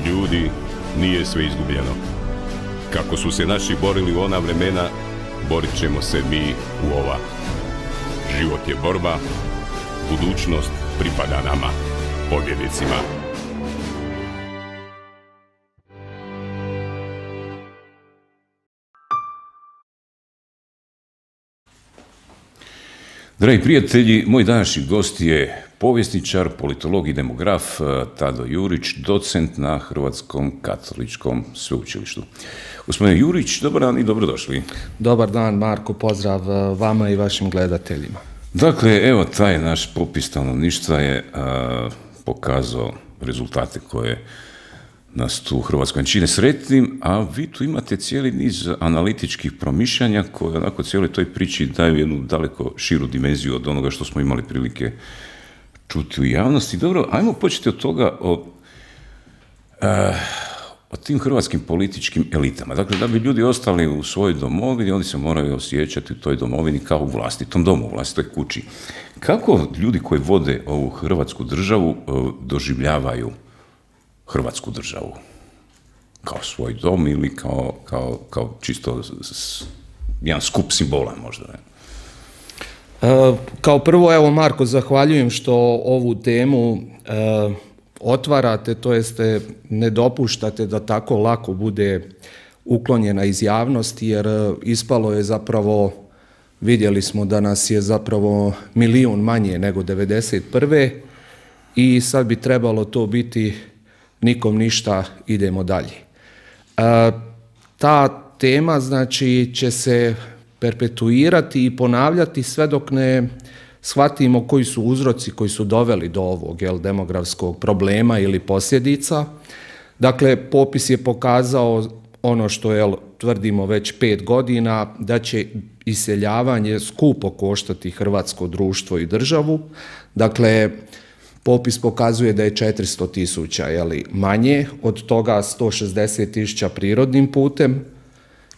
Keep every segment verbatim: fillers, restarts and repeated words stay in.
Ljudi, nije sve izgubljeno. Kako su se naši borili u ona vremena, borit ćemo se mi u ova. Život je borba, budućnost pripada nama, pobjednicima. Dragi prijatelji, moj današnji gost je povjesničar, politolog i demograf Tado Jurić, docent na Hrvatskom katoličkom sveučilištu. Gospodine Jurić, dobar dan i dobrodošli. Dobar dan, Marko, pozdrav vama i vašim gledateljima. Dakle, evo, taj naš popis stanovništva je a, pokazao rezultate koje nas tu u Hrvatskoj čine sretnim, a vi tu imate cijeli niz analitičkih promišljanja koje onako cijeloj toj priči daju jednu daleko širu dimenziju od onoga što smo imali prilike čuti u javnosti. Dobro, ajmo početi od toga, o, a, o tim hrvatskim političkim elitama. Dakle, da bi ljudi ostali u svojoj domovini, oni se moraju osjećati u toj domovini kao u vlastitom domu, u vlastitoj kući. Kako ljudi koji vode ovu hrvatsku državu doživljavaju Hrvatsku državu? Kao svoj dom ili kao, kao, kao čisto s, jedan skup simbola možda? Ne? E, kao prvo, evo Marko, zahvaljujem što ovu temu e, otvarate, to jeste ne dopuštate da tako lako bude uklonjena iz javnosti, jer ispalo je zapravo, vidjeli smo da nas je zapravo milijun manje nego devedeset prve i sad bi trebalo to biti nikom ništa, idemo dalje. E, ta tema, znači, će se perpetuirati i ponavljati sve dok ne shvatimo koji su uzroci koji su doveli do ovog jel, demografskog problema ili posljedica. Dakle, popis je pokazao ono što jel, tvrdimo već pet godina, da će iseljavanje skupo koštati hrvatsko društvo i državu. Dakle, popis pokazuje da je četiristo tisuća manje, od toga sto šezdeset tisuća prirodnim putem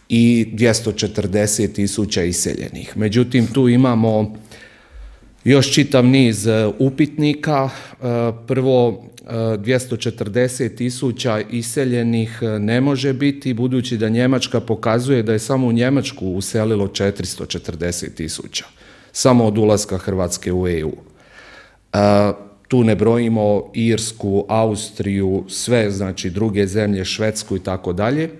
i dvjesto četrdeset tisuća iseljenih. Međutim, tu imamo još čitav niz upitnika. Prvo, dvjesto četrdeset tisuća iseljenih ne može biti, budući da Njemačka pokazuje da je samo u Njemačku uselilo četiristo četrdeset tisuća, samo od ulaska Hrvatske u E U. Tu ne brojimo Irsku, Austriju, sve, znači druge zemlje, Švedsku i tako dalje.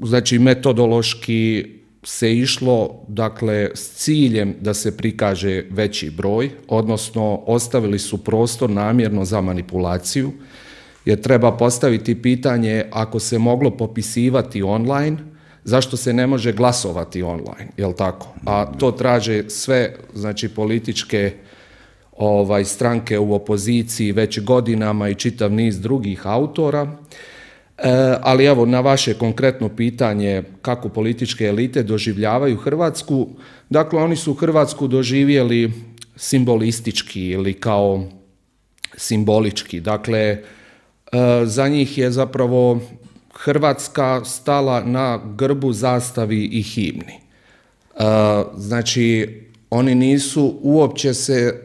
Znači, metodološki se išlo, dakle, s ciljem da se prikaže veći broj, odnosno ostavili su prostor namjerno za manipulaciju, jer treba postaviti pitanje, ako se moglo popisivati online, zašto se ne može glasovati online, jel tako? A to traže sve, znači, političke ovaj, stranke u opoziciji već godinama i čitav niz drugih autora. E, ali evo, na vaše konkretno pitanje kako političke elite doživljavaju Hrvatsku, dakle oni su Hrvatsku doživjeli simbolistički ili kao simbolički. Dakle, e, za njih je zapravo Hrvatska stala na grbu, zastavi i himni. E, znači, oni nisu uopće se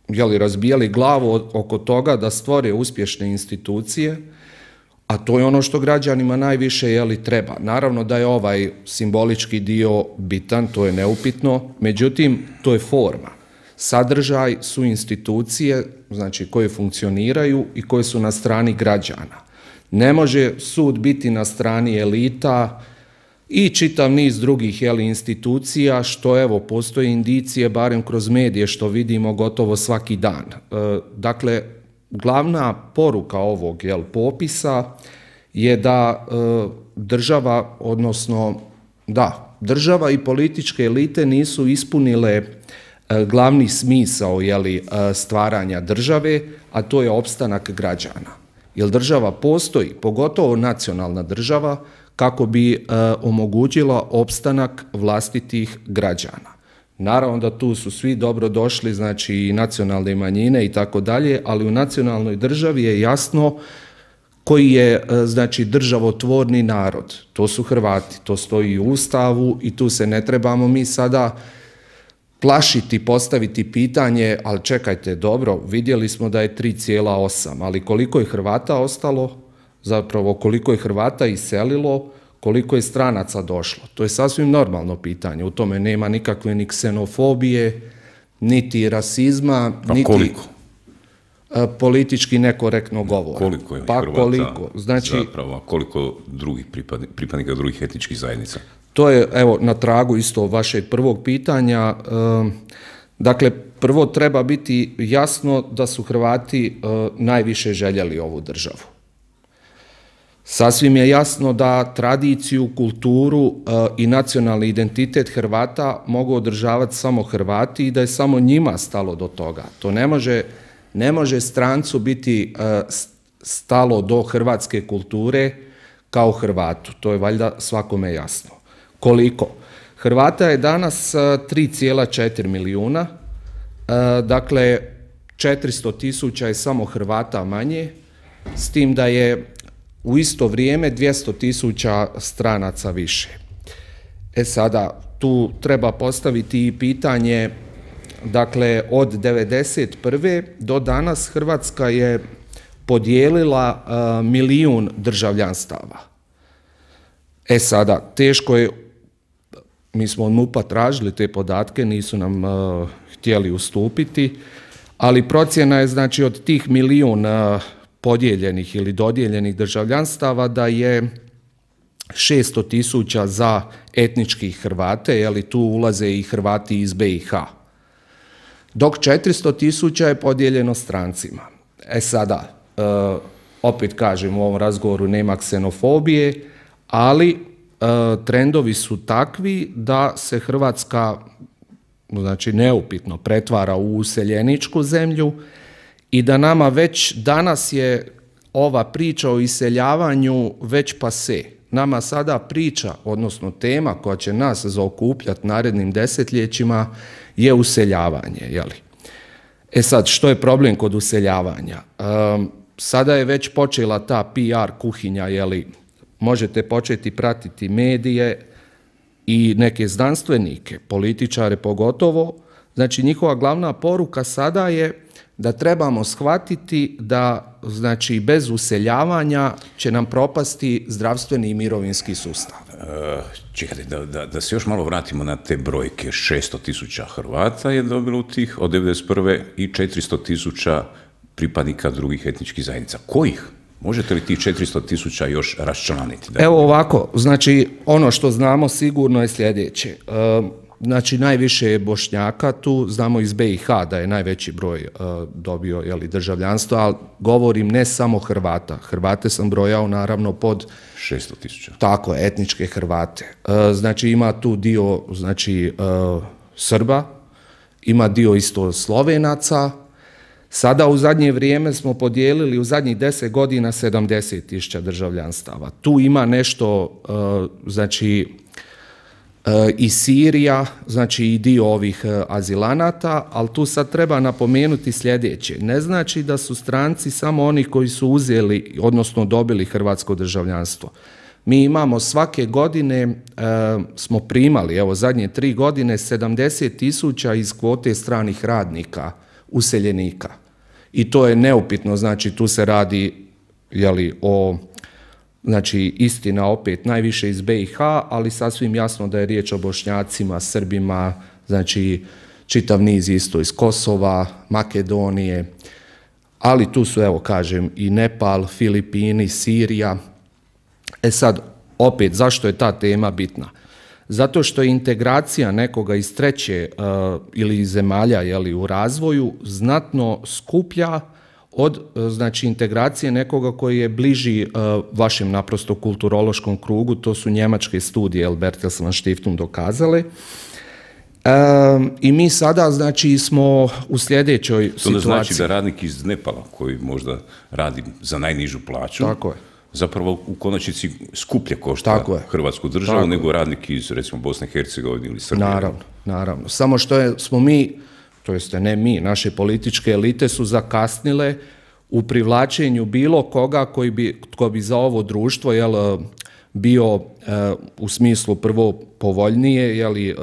jeli, razbijali glavu oko toga da stvore uspješne institucije, a to je ono što građanima najviše jeli, treba. Naravno da je ovaj simbolički dio bitan, to je neupitno, međutim, to je forma. Sadržaj su institucije, znači, koje funkcioniraju i koje su na strani građana. Ne može sud biti na strani elita i čitav niz drugih jeli, institucija, što evo, postoje indicije, barem kroz medije, što vidimo gotovo svaki dan. E, dakle, glavna poruka ovog jel, popisa je da e, država, odnosno da, država i političke elite nisu ispunile e, glavni smisao jeli, e, stvaranja države, a to je opstanak građana. Jer država postoji, pogotovo nacionalna država, kako bi e, omogućila opstanak vlastitih građana. Naravno da tu su svi dobro došli, znači i nacionalne manjine i tako dalje, ali u nacionalnoj državi je jasno koji je, znači, državotvorni narod. To su Hrvati, to stoji u Ustavu i tu se ne trebamo mi sada plašiti, postaviti pitanje, ali čekajte, dobro, vidjeli smo da je tri zarez osam, ali koliko je Hrvata ostalo, zapravo koliko je Hrvata iselilo, koliko je stranaca došlo. To je sasvim normalno pitanje, u tome nema nikakve ni ksenofobije, niti rasizma, pa niti koliko? Politički nekorektno govora. Koliko je pa Hrvata koliko? Znači, zapravo, koliko drugih pripadnika, pripadnika drugih etničkih zajednica? To je, evo, na tragu isto vašeg prvog pitanja. Dakle, prvo treba biti jasno da su Hrvati najviše željeli ovu državu. Sasvim je jasno da tradiciju, kulturu i nacionalni identitet Hrvata mogu održavati samo Hrvati i da je samo njima stalo do toga. To ne može, ne može strancu biti stalo do hrvatske kulture kao Hrvatu. To je valjda svakome jasno. Koliko? Hrvata je danas tri zarez četiri milijuna, dakle četiristo tisuća je samo Hrvata manje, s tim da je u isto vrijeme dvjesto tisuća stranaca više. E sada, tu treba postaviti i pitanje, dakle od devedeset prve do danas Hrvatska je podijelila uh, milijun državljanstava. E sada, teško je, mi smo od MUP-a tražili te podatke, nisu nam uh, htjeli ustupiti, ali procjena je, znači, od tih milijun uh, podijeljenih ili dodijeljenih državljanstava da je šesto tisuća za etnički Hrvate, jeli tu ulaze i Hrvati iz be i ha. Dok četiristo tisuća je podijeljeno strancima. E sada, uh, opet kažem, u ovom razgovoru nema ksenofobije, ali uh, trendovi su takvi da se Hrvatska, znači neupitno, pretvara u useljeničku zemlju i da nama već danas je ova priča o iseljavanju već pase. Nama sada priča, odnosno tema koja će nas zaokupljati narednim desetljećima je useljavanje. Jeli? E sad, što je problem kod useljavanja? Um, sada je već počela ta pe er kuhinja, jeli? Možete početi pratiti medije i neke znanstvenike, političare pogotovo. Znači, njihova glavna poruka sada je da trebamo shvatiti da, znači, bez useljavanja će nam propasti zdravstveni i mirovinski sustav. E, čekajte, da, da, da se još malo vratimo na te brojke. šesto tisuća Hrvata je dobilo tih od devedeset prve i četiristo tisuća pripadnika drugih etničkih zajednica. Kojih? Možete li tih četiristo tisuća još raščlaniti? Evo ovako, znači, ono što znamo sigurno je sljedeće. E, Znači, najviše je Bošnjaka tu, znamo iz be i ha da je najveći broj uh, dobio, jeli, državljanstvo, ali govorim ne samo Hrvata. Hrvate sam brojao naravno pod šesto tisuća. Tako, etničke Hrvate. Uh, znači, ima tu dio, znači, uh, Srba, ima dio isto Slovenaca. Sada u zadnje vrijeme smo podijelili u zadnjih deset godina sedamdeset tisuća državljanstava. Tu ima nešto, uh, znači, i Sirija, znači i dio ovih azilanata, ali tu sad treba napomenuti sljedeće. Ne znači da su stranci samo oni koji su uzeli, odnosno dobili hrvatsko državljanstvo. Mi imamo svake godine, e, smo primali, evo zadnje tri godine, sedamdeset tisuća iz kvote stranih radnika, useljenika. I to je neupitno, znači tu se radi, jeli, o... Znači, istina opet najviše iz be i ha, ali sasvim jasno da je riječ o Bošnjacima, Srbima, znači čitav niz isto iz Kosova, Makedonije, ali tu su, evo kažem, i Nepal, Filipini, Sirija. E sad, opet, zašto je ta tema bitna? Zato što je integracija nekoga iz treće uh, ili iz zemalja, jeli, u razvoju znatno skuplja od, znači, integracije nekoga koji je bliži uh, vašem naprosto kulturološkom krugu. To su njemačke studije Bertelsmann Stiftung dokazale. Um, I mi sada, znači, smo u sljedećoj to situaciji. To znači da radnik iz Nepala, koji možda radi za najnižu plaću, tako je, zapravo u konačnici skuplje košta Hrvatsku državu, tako nego radnik iz, recimo, Bosne i Hercegovine ili Srbije. Naravno, naravno. Samo što je, smo mi, to jest ne mi, naše političke elite su zakasnile u privlačenju bilo koga koji bi, tko bi za ovo društvo, jel, bio u smislu prvo povoljnije, jeli,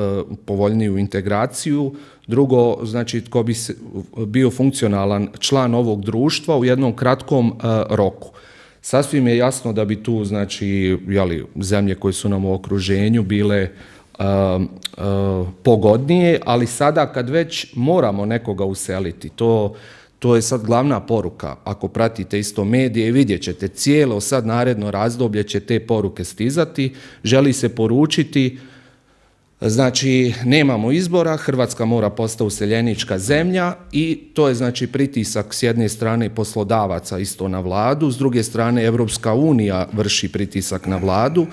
povoljniju integraciju, drugo, znači tko bi bio funkcionalan član ovog društva u jednom kratkom roku. Sasvim je jasno da bi tu, znači, jeli, zemlje koje su nam u okruženju bile uh, uh, pogodnije, ali sada kad već moramo nekoga useliti, to, to je sad glavna poruka. Ako pratite isto medije, vidjet ćete cijelo sad naredno razdoblje će te poruke stizati, želi se poručiti, znači nemamo izbora, Hrvatska mora postati useljenička zemlja i to je znači pritisak s jedne strane poslodavaca isto na vladu, s druge strane Evropska unija vrši pritisak na vladu.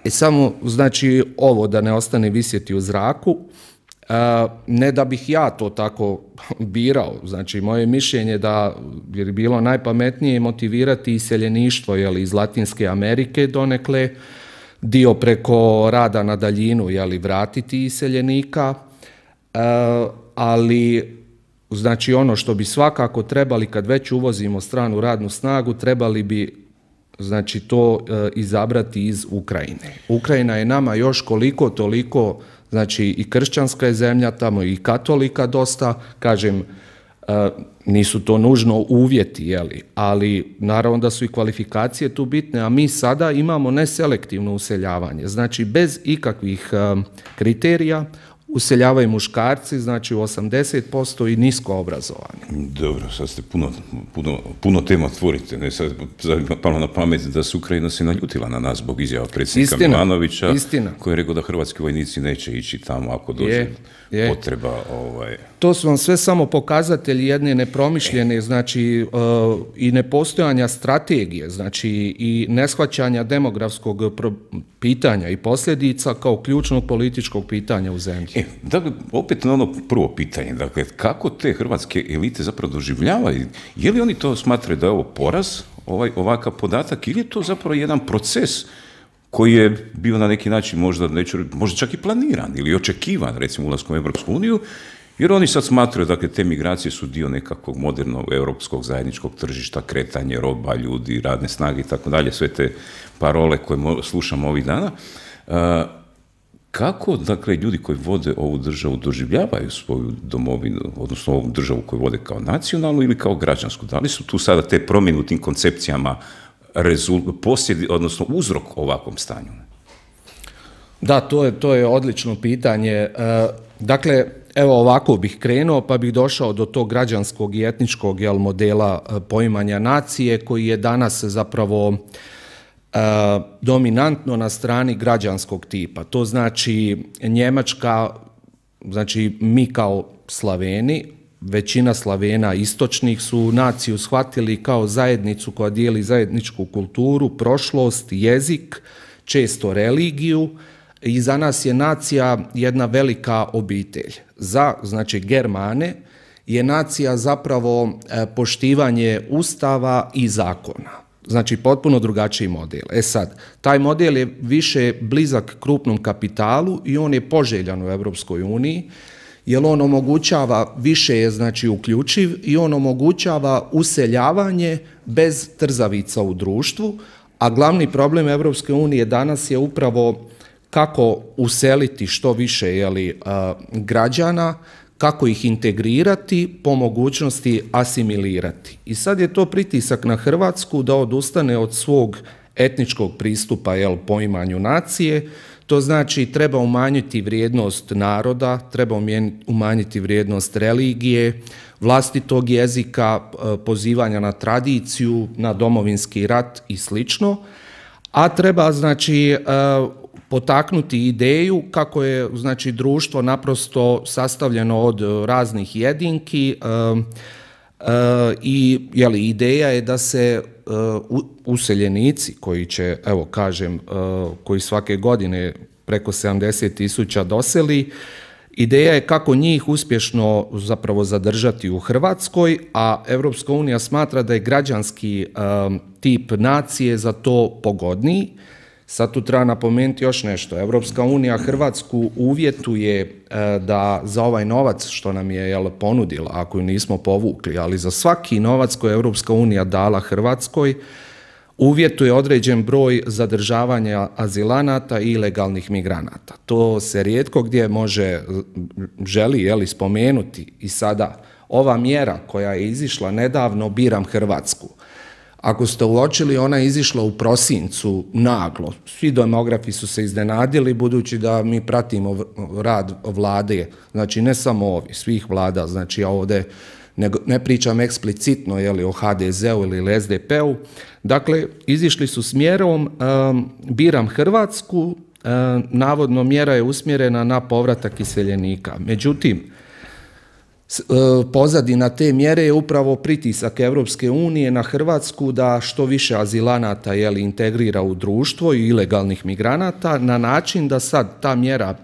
I samo znači ovo da ne ostane visjeti u zraku, ne da bih ja to tako birao, znači moje mišljenje da bi bilo najpametnije motivirati iseljeništvo jeli, iz Latinske Amerike donekle, dio preko rada na daljinu, jeli, vratiti iseljenika, e, ali znači ono što bi svakako trebali kad već uvozimo stranu radnu snagu, trebali bi znači to e, izabrati iz Ukrajine. Ukrajina je nama još koliko toliko, znači i kršćanska je zemlja tamo i katolika dosta, kažem, e, nisu to nužno uvjeti, jeli, ali naravno da su i kvalifikacije tu bitne, a mi sada imamo neselektivno useljavanje, znači bez ikakvih um, kriterija useljavaju muškarci, znači u osamdeset posto i nisko obrazovani. Dobro, sad ste puno, puno, puno tema otvorite. Ne, sad je palo na pamet da se Ukrajina se naljutila na nas zbog izjava predsjednika istina, Milanovića, istina. Koji je rekao da hrvatski vojnici neće ići tamo ako dođe je, je. potreba. Ovaj... To su vam sve samo pokazatelji jedne nepromišljene, znači uh, i nepostojanja strategije, znači i neshvaćanja demografskog pitanja i posljedica kao ključnog političkog pitanja u zemlji. E, dakle, opet na ono prvo pitanje, dakle, kako te hrvatske elite zapravo doživljavaju? Je li oni to smatraju da je ovo poraz, ovaj, ovakav podatak, ili je to zapravo jedan proces koji je bio na neki način možda, neću, možda čak i planiran ili očekivan, recimo ulaskom u Europsku uniju, jer oni sad smatraju, dakle, te migracije su dio nekakvog modernog europskog zajedničkog tržišta, kretanje roba, ljudi, radne snage i tako dalje, sve te parole koje slušamo ovih dana. Uh, Kako, dakle, ljudi koji vode ovu državu doživljavaju svoju domovinu, odnosno ovu državu koju vode kao nacionalnu ili kao građansku? Da li su tu sada te promjene u tim koncepcijama posljedi, odnosno uzrok ovakvom stanju? Da, to je, to je odlično pitanje. E, dakle, evo ovako bih krenuo pa bih došao do tog građanskog i etničkog jel, modela poimanja nacije koji je danas zapravo Uh, dominantno na strani građanskog tipa. To znači Njemačka, znači mi kao Slaveni, većina Slavena istočnih su naciju shvatili kao zajednicu koja dijeli zajedničku kulturu, prošlost, jezik, često religiju i za nas je nacija jedna velika obitelj. Za, znači, Germane je nacija zapravo poštivanje ustava i zakona. Znači, potpuno drugačiji model. E sad, taj model je više blizak krupnom kapitalu i on je poželjan u Europskoj uniji, jer on omogućava, više je znači uključiv i on omogućava useljavanje bez trzavica u društvu, a glavni problem Europske unije danas je upravo kako useliti što više jeli, građana, kako ih integrirati, po mogućnosti asimilirati. I sad je to pritisak na Hrvatsku da odustane od svog etničkog pristupa jel, poimanju nacije. To znači treba umanjiti vrijednost naroda, treba umanjiti vrijednost religije, vlastitog jezika, pozivanja na tradiciju, na domovinski rat i slično. A treba znači potaknuti ideju kako je znači društvo naprosto sastavljeno od raznih jedinki uh, uh, i jeli, ideja je da se uh, useljenici koji će, evo kažem, uh, koji svake godine preko sedamdeset tisuća doseli, ideja je kako njih uspješno zapravo zadržati u Hrvatskoj, a Europska unija smatra da je građanski uh, tip nacije za to pogodniji. Sad tu treba napomenuti još nešto. Europska unija Hrvatsku uvjetuje e, da za ovaj novac što nam je jel, ponudila, ako ju nismo povukli, ali za svaki novac koji je Europska unija dala Hrvatskoj, uvjetuje određen broj zadržavanja azilanata i ilegalnih migranata. To se rijetko gdje može, želi jeli, spomenuti i sada ova mjera koja je izišla nedavno, Biram Hrvatsku. Ako ste uočili, ona je izišla u prosincu naglo. Svi demografi su se iznenadili, budući da mi pratimo rad vlade, znači ne samo ovi, svih vlada, znači ja ovdje ne, ne pričam eksplicitno jeli, o ha de zeu ili es de pe-u. Dakle, izišli su s mjerom um, Biram Hrvatsku, um, navodno mjera je usmjerena na povratak iseljenika. Međutim, pozadina te mjere je upravo pritisak Europske unije na Hrvatsku da što više azilanata jeli, integrira u društvo i ilegalnih migranata na način da sad ta mjera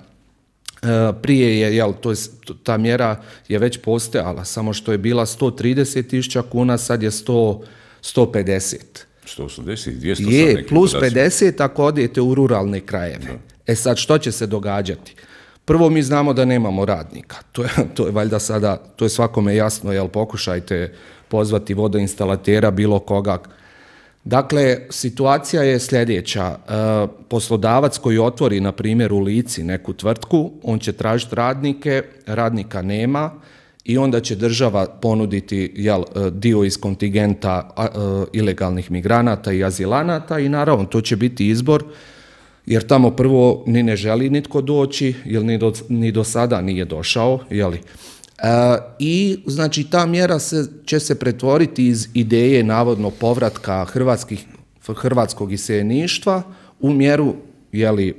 prije je, jel, to je, ta mjera je već postojala, samo što je bila sto trideset tisuća kuna, sad je sto, sto pedeset. sto osamdeset, dvjesto je, plus pedeset ako odete u ruralne krajeve. Da. E sad, što će se događati? Prvo, mi znamo da nemamo radnika. To je, to je valjda sada, to je svakome jasno, jel, pokušajte pozvati vodoinstalatera, bilo koga. Dakle, situacija je sljedeća. E, poslodavac koji otvori, na primjer, u Lici neku tvrtku, on će tražiti radnike, radnika nema i onda će država ponuditi jel, dio iz kontingenta a, a, ilegalnih migranata i azilanata i naravno to će biti izbor, jer tamo prvo ni ne želi nitko doći, jer ni do, ni do sada nije došao, jeli. E, I znači ta mjera se, će se pretvoriti iz ideje navodno povratka hrvatskih, hrvatskog iseljeništva u mjeru jeli, e,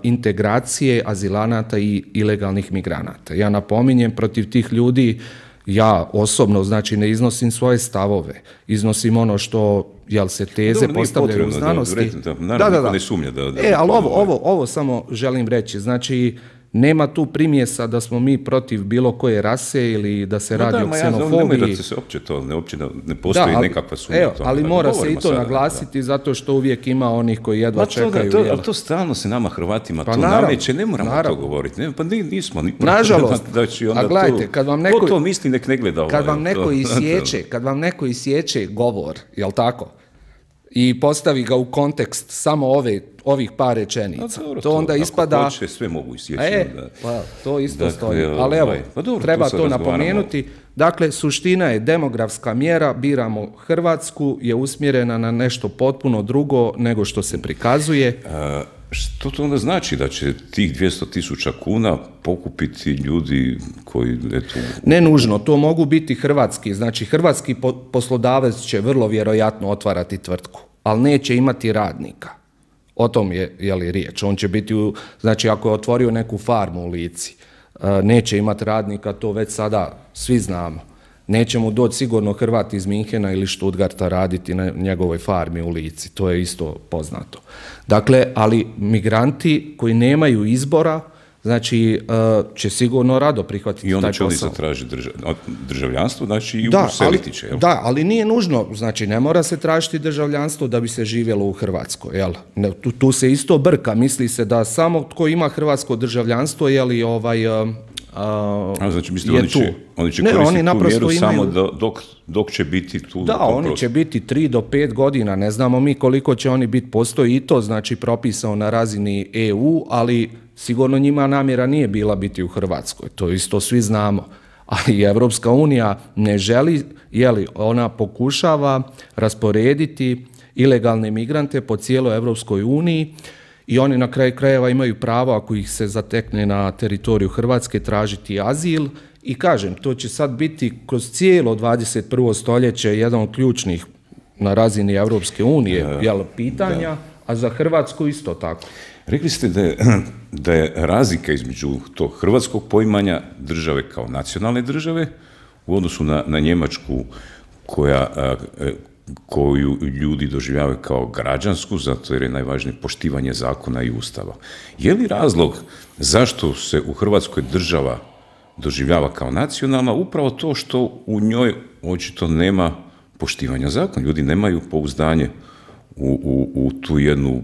integracije azilanata i ilegalnih migranata. Ja napominjem, protiv tih ljudi ja osobno znači ne iznosim svoje stavove, iznosim ono što jel se teze dobro, postavljaju u znanosti. Da, da, da, da, da. Ne sumnja da, da, e, ali ovo, ovo, ovo samo želim reći, znači nema tu primjesa da smo mi protiv bilo koje rase ili da se no, radi da, o ksenofobiji. Ja, da se uopće to, ne, uopće ne postoji da, ali, nekakva sumnja. Evo, ali mora se i to sada naglasiti da. Zato što uvijek ima onih koji jedva to, čekaju. To, to, to stalno se nama Hrvatima pa to naravno, nameće, ne moramo naravno. to govoriti. Ne, pa nismo. Ni, Nažalost, da će onda a gledajte, kad vam neko, ko to misli, nek ne gleda ovaj. Kad vam neko isječe, kad vam neko isječe govor, jel tako? I postavi ga u kontekst samo ove, ovih par rečenica. Dobro, to onda to, ispada... Hoće, sve mogu isjeći. E, da. pa to isto dakle, stoji. Ali evo, pa dobro, treba to, to napomenuti. Dakle, suština je demografska mjera, biramo Hrvatsku, je usmjerena na nešto potpuno drugo nego što se prikazuje. A, što to onda znači? Da će tih dvjesto tisuća kuna pokupiti ljudi koji... Eto... Ne nužno, to mogu biti hrvatski. Znači, hrvatski poslodavac će vrlo vjerojatno otvarati tvrtku, ali neće imati radnika. O tom je, je li riječ. On će biti, u, znači ako je otvorio neku farmu u Lici, neće imati radnika, to već sada svi znamo. Neće mu doći sigurno Hrvat iz Minhena ili Stuttgarta raditi na njegovoj farmi u Lici, to je isto poznato. Dakle, ali migranti koji nemaju izbora, znači će sigurno rado prihvatiti taj posao. I onda će oni zatražiti držav, državljanstvo, znači i da, useliti će, jel? Da, ali nije nužno, znači ne mora se tražiti državljanstvo da bi se živjelo u Hrvatskoj, jel? Ne, tu, tu se isto brka, misli se da samo tko ima hrvatsko državljanstvo, jeli ovaj... A, a znači mislite oni će, oni će ne, koristiti oni tu mjeru imaju... samo do, dok, dok će biti tu... Da, oni prostor. Će biti tri do pet godina, ne znamo mi koliko će oni biti, postoji i to znači propisano na razini E U, ali sigurno njima namjera nije bila biti u Hrvatskoj, to isto svi znamo. Ali Evropska unija ne želi, jeli, ona pokušava rasporediti ilegalne migrante po cijeloj Evropskoj uniji i oni na kraju krajeva imaju pravo, ako ih se zatekne na teritoriju Hrvatske, tražiti azil. I kažem, to će sad biti kroz cijelo dvadeset prvo stoljeće jedan od ključnih na razini Evropske unije uh, jel, pitanja, da. A za Hrvatsku isto tako. Rekli ste da je, da je razlika između tog hrvatskog poimanja države kao nacionalne države u odnosu na, na Njemačku koja... Uh, koju ljudi doživljavaju kao građansku, zato jer je najvažnije poštivanje zakona i ustava. Je li razlog zašto se u Hrvatskoj država doživljava kao nacionalna upravo to što u njoj očito nema poštivanja zakona? Ljudi nemaju pouzdanje u, u, u, tu jednu,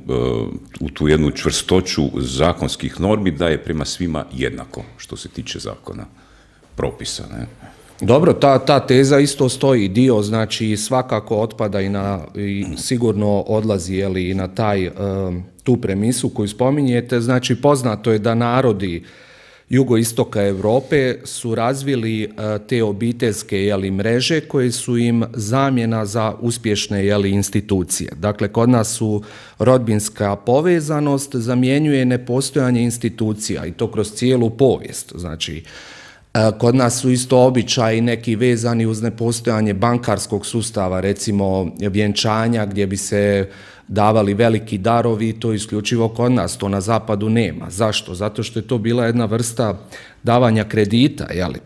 u tu jednu čvrstoću zakonskih normi da je prema svima jednako što se tiče zakona, propisa, ne? Dobro, ta, ta teza isto stoji, dio znači svakako otpada i, na, i sigurno odlazi jeli, i na taj, tu premisu koju spominjete. Znači poznato je da narodi jugoistoka Europe su razvili te obiteljske jeli, mreže koje su im zamjena za uspješne jeli, institucije. Dakle, kod nas su rodbinska povezanost zamjenjuje nepostojanje institucija i to kroz cijelu povijest. Znači, kod nas su isto običaji neki vezani uz nepostojanje bankarskog sustava, recimo vjenčanja gdje bi se davali veliki darovi, to isključivo kod nas, to na zapadu nema. Zašto? Zato što je to bila jedna vrsta davanja kredita, jeli,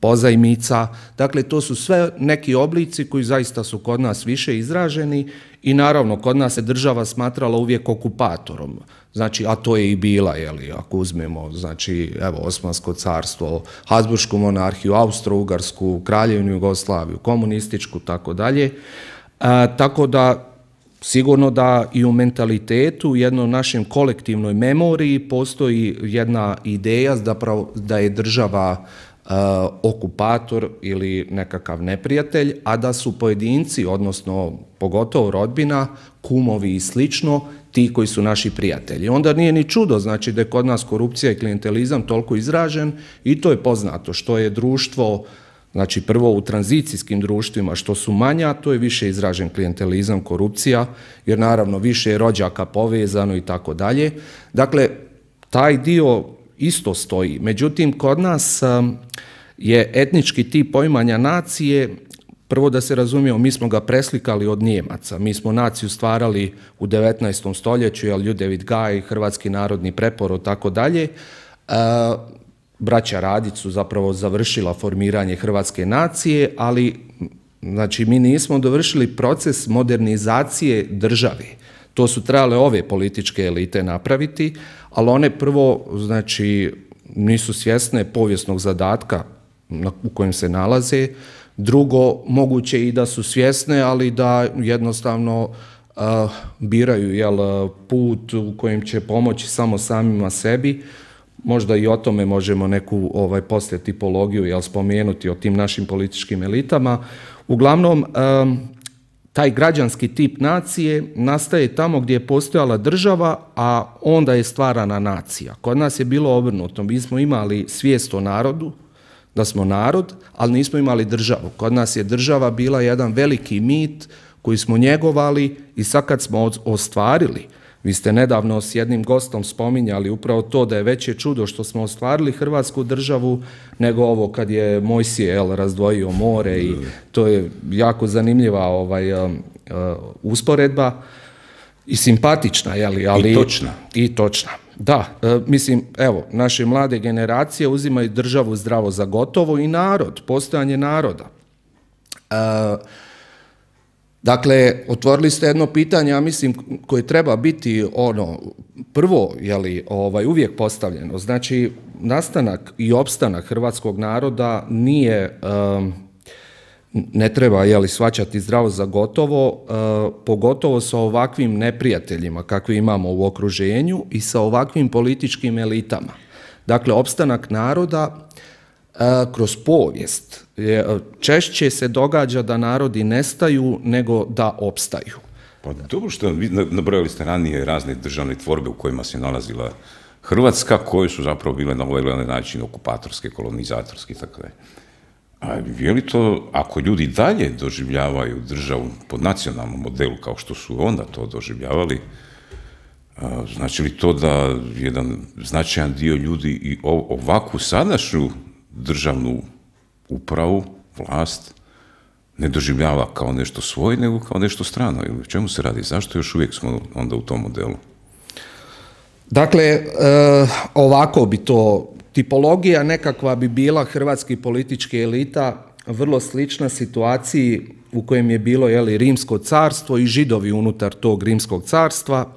pozajmica. Dakle, to su sve neki oblici koji zaista su kod nas više izraženi i naravno kod nas se država smatrala uvijek okupatorom. Znači, a to je i bila, jeli, ako uzmemo, znači, evo, Osmansko carstvo, Habsburšku monarhiju, Austro-Ugarsku, Kraljevinu Jugoslaviju, komunističku, tako dalje. Tako da, sigurno da i u mentalitetu, u jednom našem kolektivnoj memoriji postoji jedna ideja zapravo da je država uh, okupator ili nekakav neprijatelj, a da su pojedinci, odnosno pogotovo rodbina, kumovi i slično, ti koji su naši prijatelji. Onda nije ni čudo, znači da je kod nas korupcija i klijentelizam toliko izražen i to je poznato što je društvo. Znači prvo u tranzicijskim društvima što su manja, to je više izražen klijentelizam, korupcija, jer naravno više je rođaka povezano i tako dalje. Dakle, taj dio isto stoji. Međutim, kod nas je etnički tip poimanja nacije, prvo da se razumijemo, mi smo ga preslikali od Nijemaca. Mi smo naciju stvarali u devetnaestom stoljeću, jel, Ljudevit Gaj, Hrvatski narodni preporod, tako dalje. Braća Radić su zapravo završila formiranje hrvatske nacije, ali znači, mi nismo dovršili proces modernizacije države. To su trebale ove političke elite napraviti, ali one prvo znači, nisu svjesne povijesnog zadatka u kojem se nalaze. Drugo, moguće i da su svjesne, ali da jednostavno uh, biraju jel, put u kojem će pomoći samo samima sebi. Možda i o tome možemo neku ovaj, poslije tipologiju jel, spomenuti o tim našim političkim elitama. Uglavnom, um, taj građanski tip nacije nastaje tamo gdje je postojala država, a onda je stvarana nacija. Kod nas je bilo obrnuto. Mi smo imali svijest o narodu, da smo narod, ali nismo imali državu. Kod nas je država bila jedan veliki mit koji smo njegovali i sad kad smo ostvarili, vi ste nedavno s jednim gostom spominjali upravo to da je veće čudo što smo ostvarili Hrvatsku državu nego ovo kad je Mojsije jel, razdvojio more i to je jako zanimljiva ovaj, uh, uh, usporedba i simpatična. Jeli, ali, I točna. I točna. Da, uh, mislim, evo, naše mlade generacije uzimaju državu zdravo za gotovo i narod, postojanje naroda. Uh, Dakle, otvorili ste jedno pitanje, ja mislim, koje treba biti ono, prvo, jeli, ovaj, uvijek postavljeno. Znači, nastanak i opstanak hrvatskog naroda nije, um, ne treba, jeli, shvaćati zdravo za gotovo, uh, pogotovo sa ovakvim neprijateljima kakve imamo u okruženju i sa ovakvim političkim elitama. Dakle, opstanak naroda kroz povijest češće se događa da narodi nestaju nego da opstaju. Pa dobro što vi nabrojali ste ranije razne državne tvorbe u kojima se nalazila Hrvatska, koje su zapravo bile na ovaj način okupatorske, kolonizatorske i tako dalje. A je li to, ako ljudi dalje doživljavaju državu po nacionalnom modelu kao što su onda to doživljavali, znači li to da jedan značajan dio ljudi i ovakvu sadašnju državnu upravu, vlast, ne doživljava kao nešto svoje, nego kao nešto strano? Ili o čemu se radi? Zašto još uvijek smo onda u tom modelu? Dakle, e, ovako bi to, tipologija nekakva bi bila hrvatskih političkih elita vrlo slična situaciji u kojem je bilo jeli, Rimsko carstvo i Židovi unutar tog Rimskog carstva.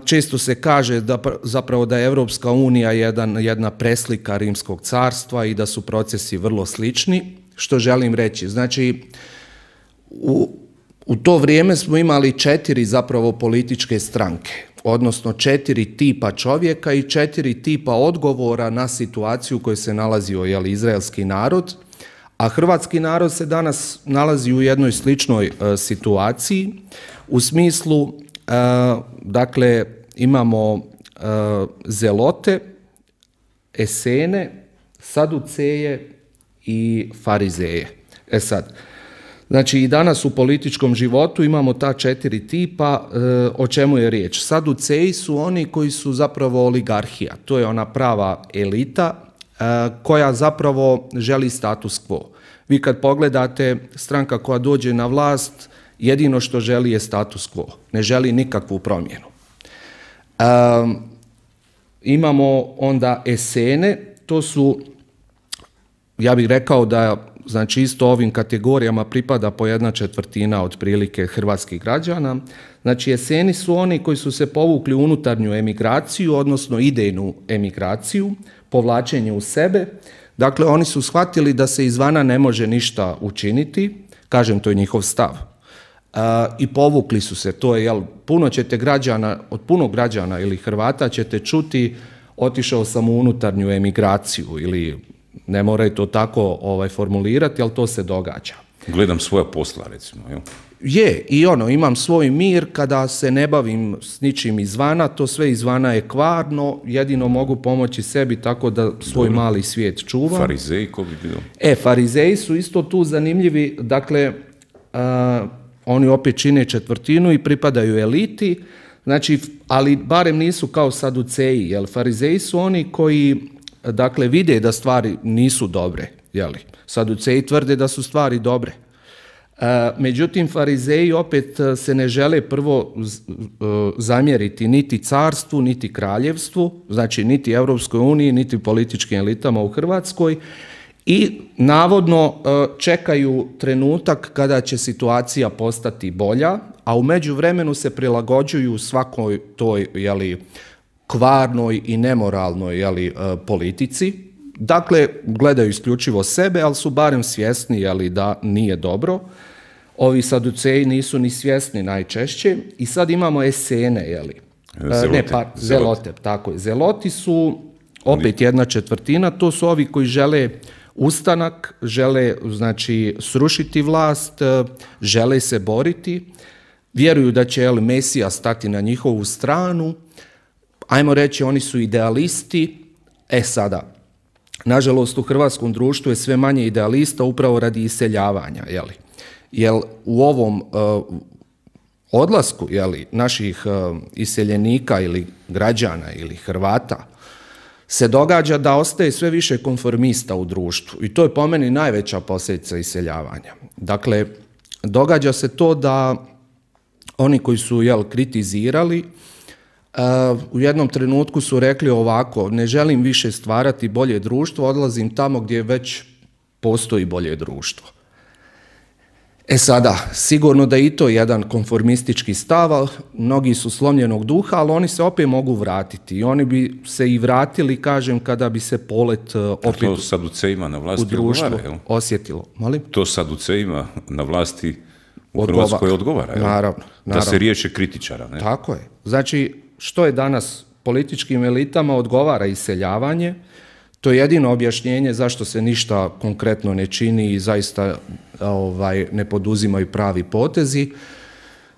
Često se kaže da zapravo da je Europska unija jedan, jedna preslika Rimskog carstva i da su procesi vrlo slični. Što želim reći? Znači, u, u to vrijeme smo imali četiri zapravo političke stranke. odnosno četiri tipa čovjeka i četiri tipa odgovora na situaciju u kojoj se nalazio jel, izraelski narod, a hrvatski narod se danas nalazi u jednoj sličnoj e, situaciji, u smislu, e, dakle, imamo e, zelote, esene, saduceje i farizeje. E sad, znači i danas u političkom životu imamo ta četiri tipa, e, o čemu je riječ. Saduceji su oni koji su zapravo oligarhija, to je ona prava elita e, koja zapravo želi status quo. Vi kad pogledate, stranka koja dođe na vlast, jedino što želi je status quo, ne želi nikakvu promjenu. E, imamo onda esene, to su, ja bih rekao da znači isto ovim kategorijama pripada po jedna četvrtina otprilike hrvatskih građana. Znači eseni su oni koji su se povukli u unutarnju emigraciju, odnosno idejnu emigraciju, povlačenje u sebe. Dakle, oni su shvatili da se izvana ne može ništa učiniti, kažem, to je njihov stav. Uh, I povukli su se, to je, jel, puno ćete građana, od puno građana ili Hrvata ćete čuti otišao sam u unutarnju emigraciju ili ne moraju to tako ovaj, formulirati, ali to se događa. Gledam svoja posla, recimo. Jel? Je, i ono, imam svoj mir kada se ne bavim s ničim izvana, to sve izvana je kvarno, jedino mogu pomoći sebi tako da svoj Dobro. mali svijet čuvam. Farizeji, ko bi bilo? E, farizeji su isto tu zanimljivi, dakle, a, oni opet čine četvrtinu i pripadaju eliti, znači, ali barem nisu kao saduceji, jer farizeji su oni koji, dakle, vide da stvari nisu dobre, jeli? Saduceji tvrde da su stvari dobre. E, međutim, farizeji opet se ne žele prvo zamjeriti niti carstvu, niti kraljevstvu, znači niti Europskoj uniji, niti političkim elitama u Hrvatskoj i navodno čekaju trenutak kada će situacija postati bolja, a u međuvremenu se prilagođuju svakoj toj, jeli, kvarnoj i nemoralnoj, jeli, politici. Dakle, gledaju isključivo sebe, ali su barem svjesni, jeli, da nije dobro. Ovi saduceji nisu ni svjesni najčešće. I sad imamo esene, jeli. Zelote. Ne, pa, zelote, tako je. Zeloti su opet jedna četvrtina, to su ovi koji žele ustanak, žele, znači, srušiti vlast, žele se boriti, vjeruju da će, jeli, Mesija stati na njihovu stranu. Ajmo reći, oni su idealisti. E sada, nažalost, u hrvatskom društvu je sve manje idealista upravo radi iseljavanja, jeli. Jer u ovom uh, odlasku, jeli, naših uh, iseljenika ili građana ili Hrvata se događa da ostaje sve više konformista u društvu i to je po meni najveća posljedica iseljavanja. Dakle, događa se to da oni koji su, jel, kritizirali, Uh, u jednom trenutku su rekli ovako, ne želim više stvarati bolje društvo, odlazim tamo gdje već postoji bolje društvo. E sada, sigurno da i to je jedan konformistički stav, mnogi su slomljenog duha, ali oni se opet mogu vratiti i oni bi se i vratili, kažem, kada bi se polet uh, opet to saducejima na vlasti u društvu odgovara, osjetilo. Molim? To saducejima na vlasti u Odgova. Hrvatskoj odgovara, jel? Naravno, naravno. Da se riješe kritičara, ne? Tako je. Znači, što je danas političkim elitama odgovara iseljavanje, to je jedino objašnjenje zašto se ništa konkretno ne čini i zaista ovaj, ne poduzimaju pravi potezi.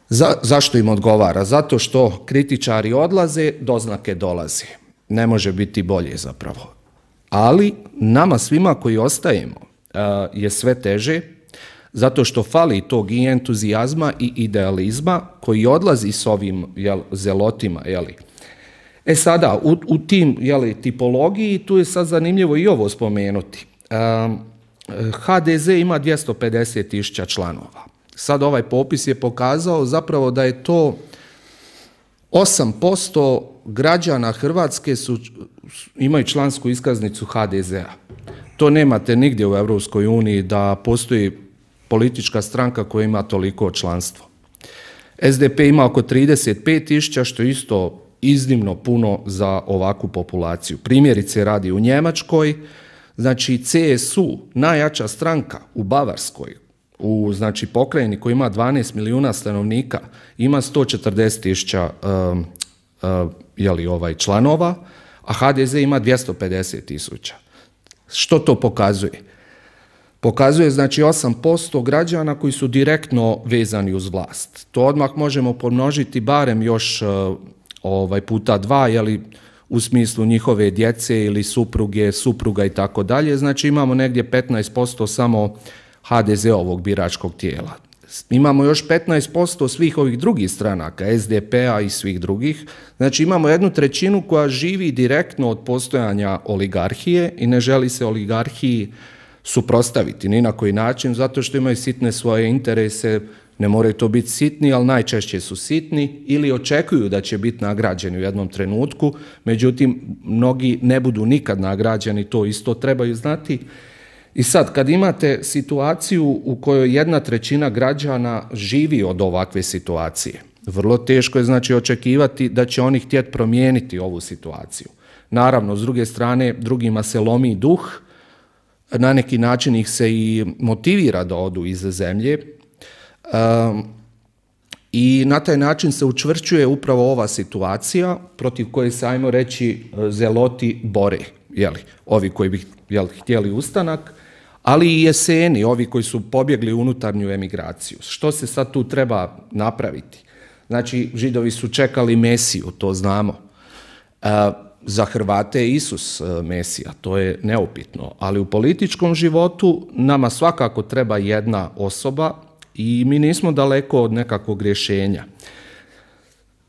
Za, zašto im odgovara? Zato što kritičari odlaze, doznake dolaze. Ne može biti bolje zapravo. Ali nama svima koji ostajemo je sve teže, zato što fali tog i entuzijazma i idealizma koji odlazi s ovim, jel, zelotima. Jeli. E sada, u, u tim, jeli, tipologiji, tu je sad zanimljivo i ovo spomenuti. Um, ha de ze ima dvjesto pedeset tisuća članova. Sad ovaj popis je pokazao zapravo da je to osam posto građana Hrvatske su, imaju člansku iskaznicu ha de zea. To nemate nigdje u Europskoj uniji da postoji politička stranka koja ima toliko članstvo. es de pe ima oko trideset pet tisuća, što je isto iznimno puno za ovakvu populaciju. Primjerice radi u Njemačkoj, znači ce es u, najjača stranka u Bavarskoj, u, znači, pokrajini koja ima dvanaest milijuna stanovnika, ima sto četrdeset tisuća um, jeli, ovaj, članova, a H D Z ima dvjesto pedeset tisuća. Što to pokazuje? Pokazuje znači osam posto građana koji su direktno vezani uz vlast. To odmah možemo pomnožiti barem još ovaj, puta dva, jeli, u smislu njihove djece ili supruge, supruga i tako dalje. Znači imamo negdje petnaest posto samo H D Z-ovog biračkog tijela. Imamo još petnaest posto svih ovih drugih stranaka, S D P-a i svih drugih. Znači imamo jednu trećinu koja živi direktno od postojanja oligarhije i ne želi se oligarhiji suprotstaviti ni na koji način, zato što imaju sitne svoje interese, ne moraju to biti sitni, ali najčešće su sitni ili očekuju da će biti nagrađeni u jednom trenutku, međutim, mnogi ne budu nikad nagrađeni, to isto trebaju znati. I sad, kad imate situaciju u kojoj jedna trećina građana živi od ovakve situacije, vrlo teško je znači očekivati da će oni htjeti promijeniti ovu situaciju. Naravno, s druge strane, drugima se lomi duh, na neki način ih se i motivira da odu iz zemlje um, i na taj način se učvršćuje upravo ova situacija protiv koje se, ajmo reći, zeloti bore, jeli, ovi koji bi jeli, htjeli ustanak, ali i jeseni, ovi koji su pobjegli u unutarnju emigraciju. Što se sad tu treba napraviti? Znači, Židovi su čekali Mesiju, to znamo. Uh, Za Hrvate je Isus Mesija, to je neupitno, ali u političkom životu nama svakako treba jedna osoba i mi nismo daleko od nekakvog rješenja.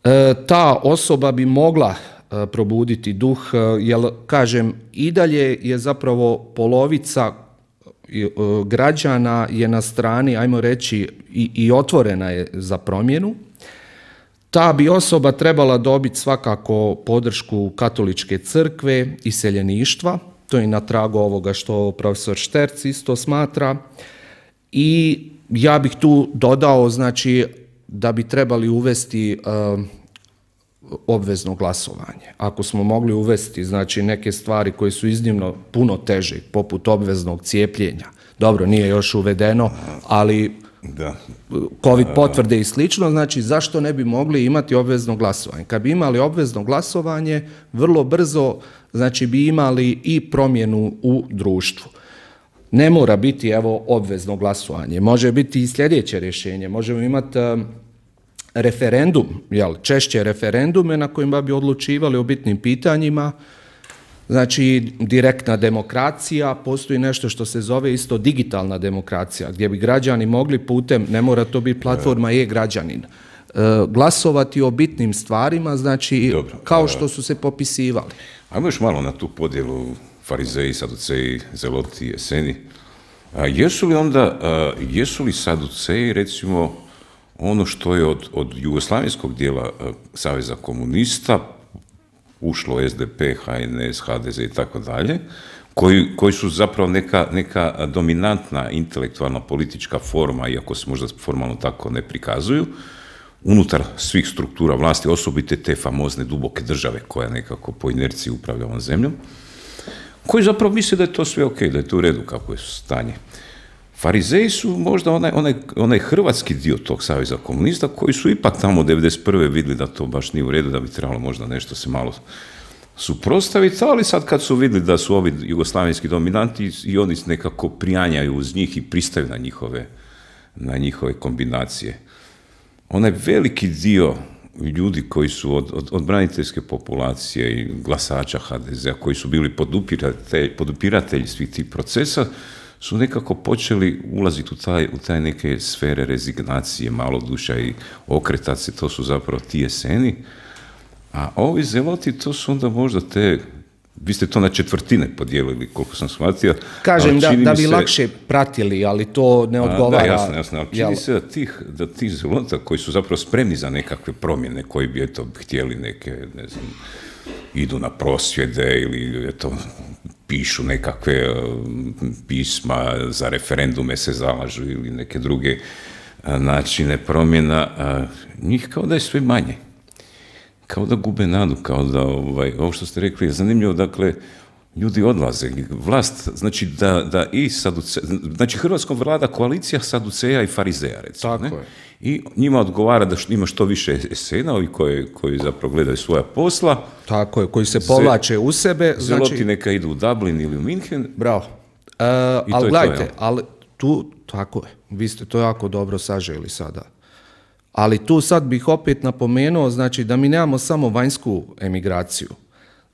E, ta osoba bi mogla e, probuditi duh, e, jer, kažem, i dalje je zapravo polovica e, građana je na strani, ajmo reći, i, i otvorena je za promjenu. Ta bi osoba trebala dobiti svakako podršku katoličke crkve i seljeništva, to je na tragu ovoga što profesor Šterc isto smatra, i ja bih tu dodao znači da bi trebali uvesti uh, obvezno glasovanje. Ako smo mogli uvesti znači neke stvari koje su iznimno puno teže, poput obveznog cijepljenja, dobro, nije još uvedeno, ali da. COVID potvrde i slično, znači zašto ne bi mogli imati obvezno glasovanje? Kad bi imali obvezno glasovanje, vrlo brzo znači bi imali i promjenu u društvu. Ne mora biti evo obvezno glasovanje, može biti i sljedeće rješenje, možemo imati uh, referendum, jel, češće referendume na kojima bi odlučivali o bitnim pitanjima. Znači, direktna demokracija, postoji nešto što se zove isto digitalna demokracija, gdje bi građani mogli putem, ne mora to biti platforma e-građanin, glasovati o bitnim stvarima, znači, dobro, kao što su se popisivali. Ajmo još malo na tu podjelu farizeji, saduceji, zeloti, jeseni. A jesu li onda, a, jesu li saduceji, recimo, ono što je od, od jugoslavenskog dijela a, Saveza komunista, ušlo S D P, H N S, H D Z i tako dalje, koji, koji su zapravo neka, neka dominantna intelektualna politička forma, iako se možda formalno tako ne prikazuju, unutar svih struktura vlasti, osobite te famozne duboke države koja nekako po inerciji upravlja ovom zemljom, koji zapravo misle da je to sve ok, da je to u redu kako je stanje. Farizeji su možda onaj, onaj, onaj hrvatski dio tog Saveza komunista koji su ipak tamo devedeset prve vidjeli da to baš nije u redu, da bi trebalo možda nešto se malo suprotstaviti, ali sad kad su vidjeli da su ovi jugoslavenski dominanti i oni nekako prijanjaju uz njih i pristaju na njihove, na njihove kombinacije. Onaj veliki dio ljudi koji su od, od, od braniteljske populacije i glasača H D Z-a koji su bili podupiratelji, podupiratelji svih tih procesa, su nekako počeli ulaziti u taj, u taj neke sfere rezignacije, maloduša i okretati se, to su zapravo ti jeseni. A ovi zeloti, to su onda možda te, vi ste to na četvrtine podijelili, koliko sam shvatio. Kažem da, da bi se lakše pratili, ali to ne odgovara. A, da, jasno, jasno. Ali čini jel... se da tih, da tih zelota koji su zapravo spremni za nekakve promjene, koji bi eto htjeli neke, ne znam, idu na prosvjede ili eto, pišu nekakve uh, pisma za referendume se zalažu ili neke druge uh, načine promjena, uh, njih kao da je sve manje. Kao da gube nadu, kao da, ovaj, ovo što ste rekli je zanimljivo, dakle, ljudi odlaze. Vlast, znači da, da i saduce, znači Hrvatskom vlada koalicija saduceja i farizeja, recimo. Tako ne? je. I njima odgovara da ima što više esena, ovi koji, koji zapravo gledaju svoja posla. Tako je, koji se povlače u sebe. Zeloti Znači, neka idu u Dublin ili u Minhen. bravo. E, ali je gledajte, to, jel? ali tu, tako je, vi ste to jako dobro saželi sada. Ali tu sad bih opet napomenuo, znači da mi nemamo samo vanjsku emigraciju.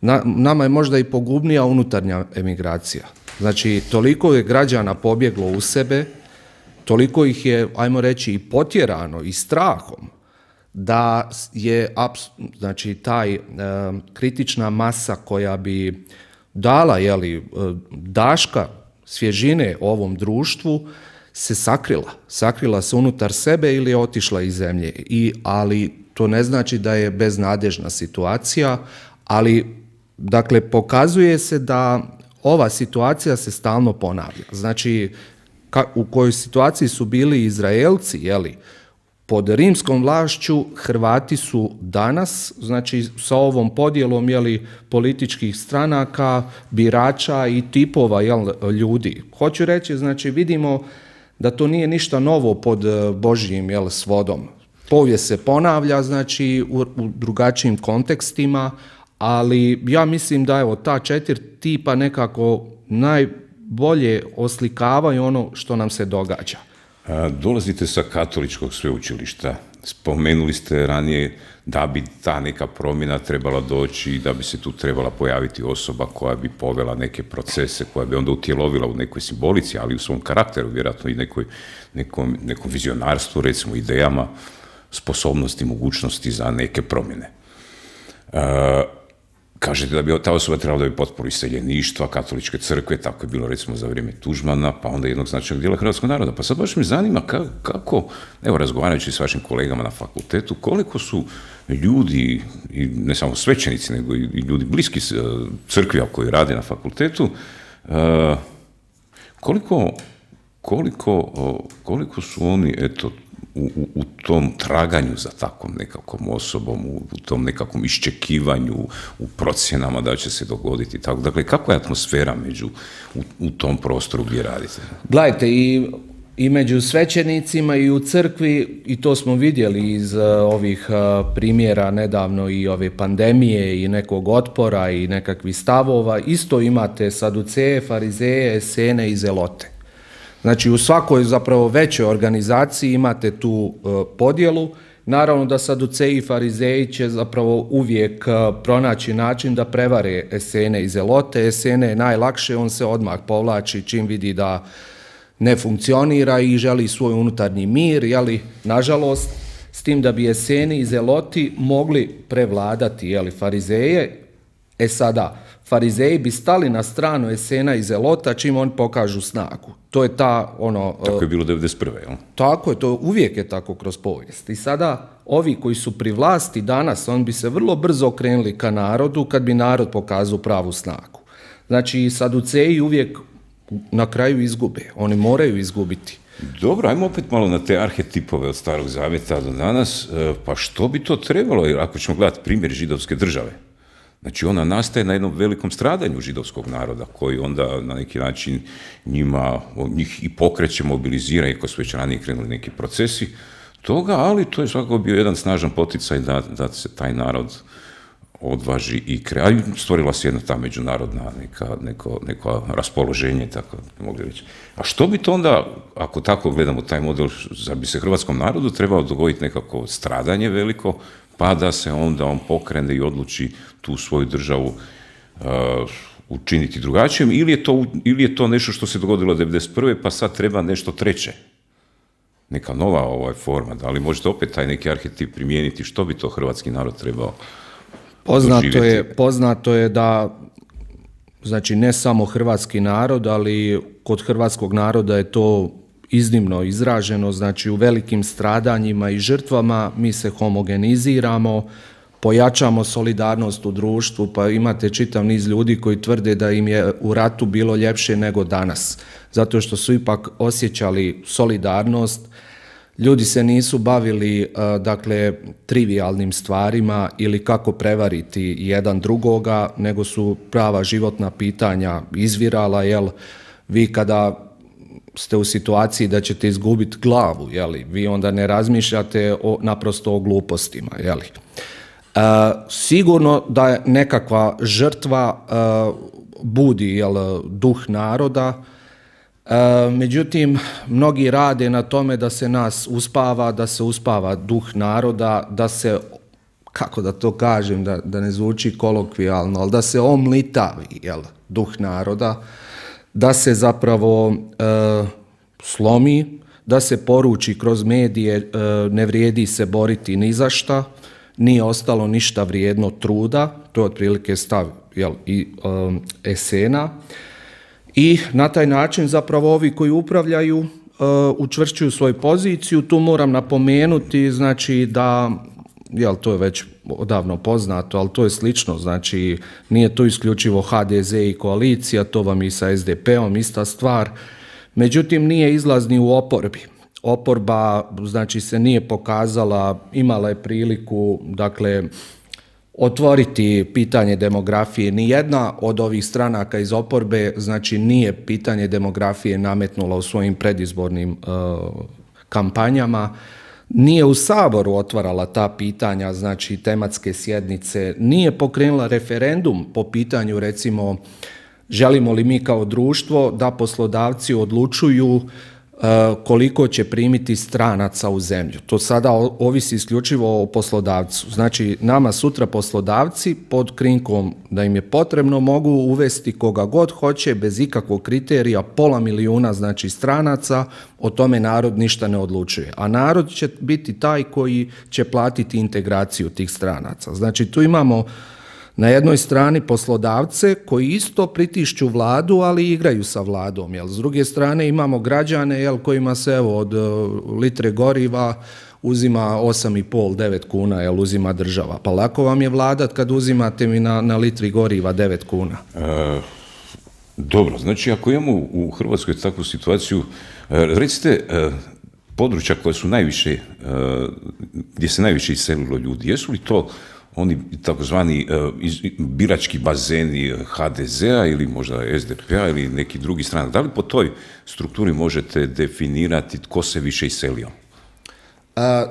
Na, nama je možda i pogubnija unutarnja emigracija. Znači, toliko je građana pobjeglo u sebe, toliko ih je, ajmo reći, i potjerano i strahom, da je znači, taj e, kritična masa koja bi dala jeli, e, daška svježine ovom društvu se sakrila. Sakrila se unutar sebe ili je otišla iz zemlje. I, ali to ne znači da je beznadežna situacija, ali dakle pokazuje se da ova situacija se stalno ponavlja. Znači, ka, u kojoj situaciji su bili Izraelci, jeli, pod rimskom vlašću, Hrvati su danas, znači sa ovom podjelom jeli, političkih stranaka, birača i tipova jel, ljudi. Hoću reći, znači vidimo da to nije ništa novo pod Božjim jel, svodom. Povijest se ponavlja, znači u, u drugačijim kontekstima, ali ja mislim da evo ta četiri tipa nekako najbolje oslikavaju ono što nam se događa. A, dolazite sa katoličkog sveučilišta. Spomenuli ste ranije da bi ta neka promjena trebala doći, da bi se tu trebala pojaviti osoba koja bi povela neke procese, koja bi onda utjelovila u nekoj simbolici, ali u svom karakteru, vjerojatno i nekoj, nekom, nekom vizionarstvu, recimo idejama, sposobnosti, mogućnosti za neke promjene. A, Kažete da bi ta osoba trebala da bi potporu iseljeništva, katoličke crkve, tako je bilo recimo za vrijeme Tuđmana, pa onda jednog značajnog dijela hrvatskog naroda. Pa sad baš me zanima kako, kako, evo razgovarajući s vašim kolegama na fakultetu, koliko su ljudi, i ne samo svećenici, nego i ljudi bliski crkvi koji rade na fakultetu, koliko, koliko, koliko su oni, eto, U, u, u tom traganju za takvom nekakvom osobom, u, u tom nekakvom iščekivanju, u procjenama da će se dogoditi tako. Dakle, kakva je atmosfera među, u, u tom prostoru gdje radite? Gledajte, i, i među svećenicima i u crkvi, i to smo vidjeli iz uh, ovih uh, primjera nedavno i ove pandemije i nekog otpora i nekakvih stavova, isto imate saduceje, farizeje, esene i zelote. Znači u svakoj zapravo većoj organizaciji imate tu uh, podjelu. Naravno da saduceji i farizeji će zapravo uvijek uh, pronaći način da prevare esene i zelote. Esene je najlakše, on se odmah povlači čim vidi da ne funkcionira i želi svoj unutarnji mir, jeli, nažalost, s tim da bi eseni i zeloti mogli prevladati jeli, farizeje. E sada, farizeji bi stali na stranu esena i zelota čim oni pokažu snagu. To je ta ono... Tako je bilo devedeset prve jel? Tako je, to uvijek je tako kroz povijest. I sada ovi koji su pri vlasti danas, on bi se vrlo brzo okrenuli ka narodu kad bi narod pokazao pravu snagu. Znači, saduceji uvijek na kraju izgube. Oni moraju izgubiti. Dobro, ajmo opet malo na te arhetipove od Starog Zavjeta do danas. Pa što bi to trebalo, jer ako ćemo gledati primjer židovske države, znači ona nastaje na jednom velikom stradanju židovskog naroda koji onda na neki način njima, njih i pokreće, mobilizira, iako su već ranije krenuli neki procesi toga, ali to je svakako bio jedan snažan poticaj da, da se taj narod odvaži i kreira. Stvorila se jedna ta međunarodna neka, neko, neko raspoloženje, tako mogli reći. A što bi to onda, ako tako gledamo taj model, da bi se hrvatskom narodu trebalo dogoditi nekako stradanje veliko, pa da se onda on pokrene i odluči tu svoju državu uh, učiniti drugačijom, ili je, to, ili je to nešto što se dogodilo devedeset prve pa sad treba nešto treće? Neka nova ovaj forma, da li možete opet taj neki arhetip primijeniti, što bi to hrvatski narod trebao poznato doživjeti? je, poznato je da, znači ne samo hrvatski narod, ali kod hrvatskog naroda je to iznimno izraženo, znači u velikim stradanjima i žrtvama mi se homogeniziramo, pojačamo solidarnost u društvu, pa imate čitav niz ljudi koji tvrde da im je u ratu bilo ljepše nego danas, zato što su ipak osjećali solidarnost. Ljudi se nisu bavili uh, dakle trivijalnim stvarima ili kako prevariti jedan drugoga, nego su prava životna pitanja izvirala, jel, vi kada ste u situaciji da ćete izgubiti glavu, jeli, vi onda ne razmišljate o, naprosto o glupostima, jeli. E, sigurno da je nekakva žrtva e, budi, jel, duh naroda, e, međutim, mnogi rade na tome da se nas uspava, da se uspava duh naroda, da se, kako da to kažem, da, da ne zvuči kolokvijalno, ali da se omlitavi, jel, duh naroda, da se zapravo e, slomi, da se poruči kroz medije e, ne vrijedi se boriti ni za šta, nije ostalo ništa vrijedno truda, to je otprilike stav, jel, i e, esena. I na taj način zapravo ovi koji upravljaju e, učvršćuju svoju poziciju. Tu moram napomenuti, znači da, jel, to je već odavno poznato, ali to je slično, znači nije to isključivo ha de ze i koalicija, to vam i sa es de pe-om ista stvar, međutim nije izlazni u oporbi. Oporba, znači, se nije pokazala, imala je priliku, dakle, otvoriti pitanje demografije. Nijedna od ovih stranaka iz oporbe, znači, nije pitanje demografije nametnula u svojim predizbornim uh, kampanjama, nije u Saboru otvarala ta pitanja, znači tematske sjednice, nije pokrenula referendum po pitanju, recimo, želimo li mi kao društvo da poslodavci odlučuju uh, koliko će primiti stranaca u zemlju. To sada ovisi isključivo o poslodavcu. Znači, nama sutra poslodavci pod krinkom da im je potrebno mogu uvesti koga god hoće bez ikakvog kriterija, pola milijuna, znači, stranaca, o tome narod ništa ne odlučuje. A narod će biti taj koji će platiti integraciju tih stranaca. Znači, tu imamo na jednoj strani poslodavce koji isto pritišću vladu, ali igraju sa vladom. Jel? S druge strane imamo građane, jel, kojima se, evo, od uh, litre goriva uzima osam i pol do devet kuna, jel, uzima država. Pa lako vam je vladat kad uzimate mi na, na litri goriva devet kuna. E, dobro, znači ako imamo u Hrvatskoj takvu situaciju, recite, područja koja su najviše, gdje se najviše iselilo ljudi, jesu li to oni takozvani birački bazeni ha de zea ili možda es de pe-a ili neki drugi stranak? Da li po toj strukturi možete definirati tko se više iselio?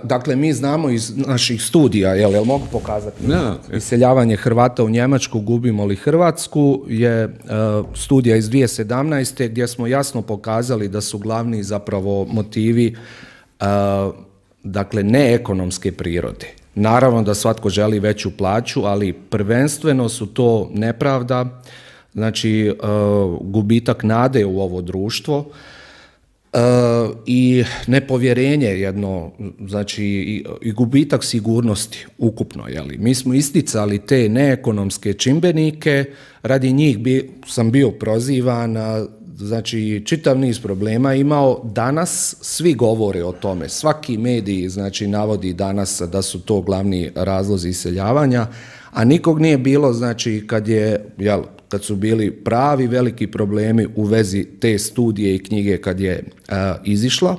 Dakle, mi znamo iz naših studija, jel, jel mogu pokazati? Da, Iseljavanje Hrvata u Njemačku, gubimo li Hrvatsku, je uh, studija iz dvije tisuće sedamnaeste. gdje smo jasno pokazali da su glavni zapravo motivi uh, dakle neekonomske prirode. Naravno da svatko želi veću plaću, ali prvenstveno su to nepravda, znači uh, gubitak nade u ovo društvo, Uh, i nepovjerenje jedno, znači i, i gubitak sigurnosti ukupno, jeli. Mi smo isticali te neekonomske čimbenike, radi njih bi, sam bio prozivan, znači čitav niz problema imao. Danas svi govore o tome, svaki medij, znači, navodi danas da su to glavni razlozi iseljavanja, a nikog nije bilo, znači, kad je, jel, kad su bili pravi veliki problemi u vezi te studije i knjige kad je uh, izišla.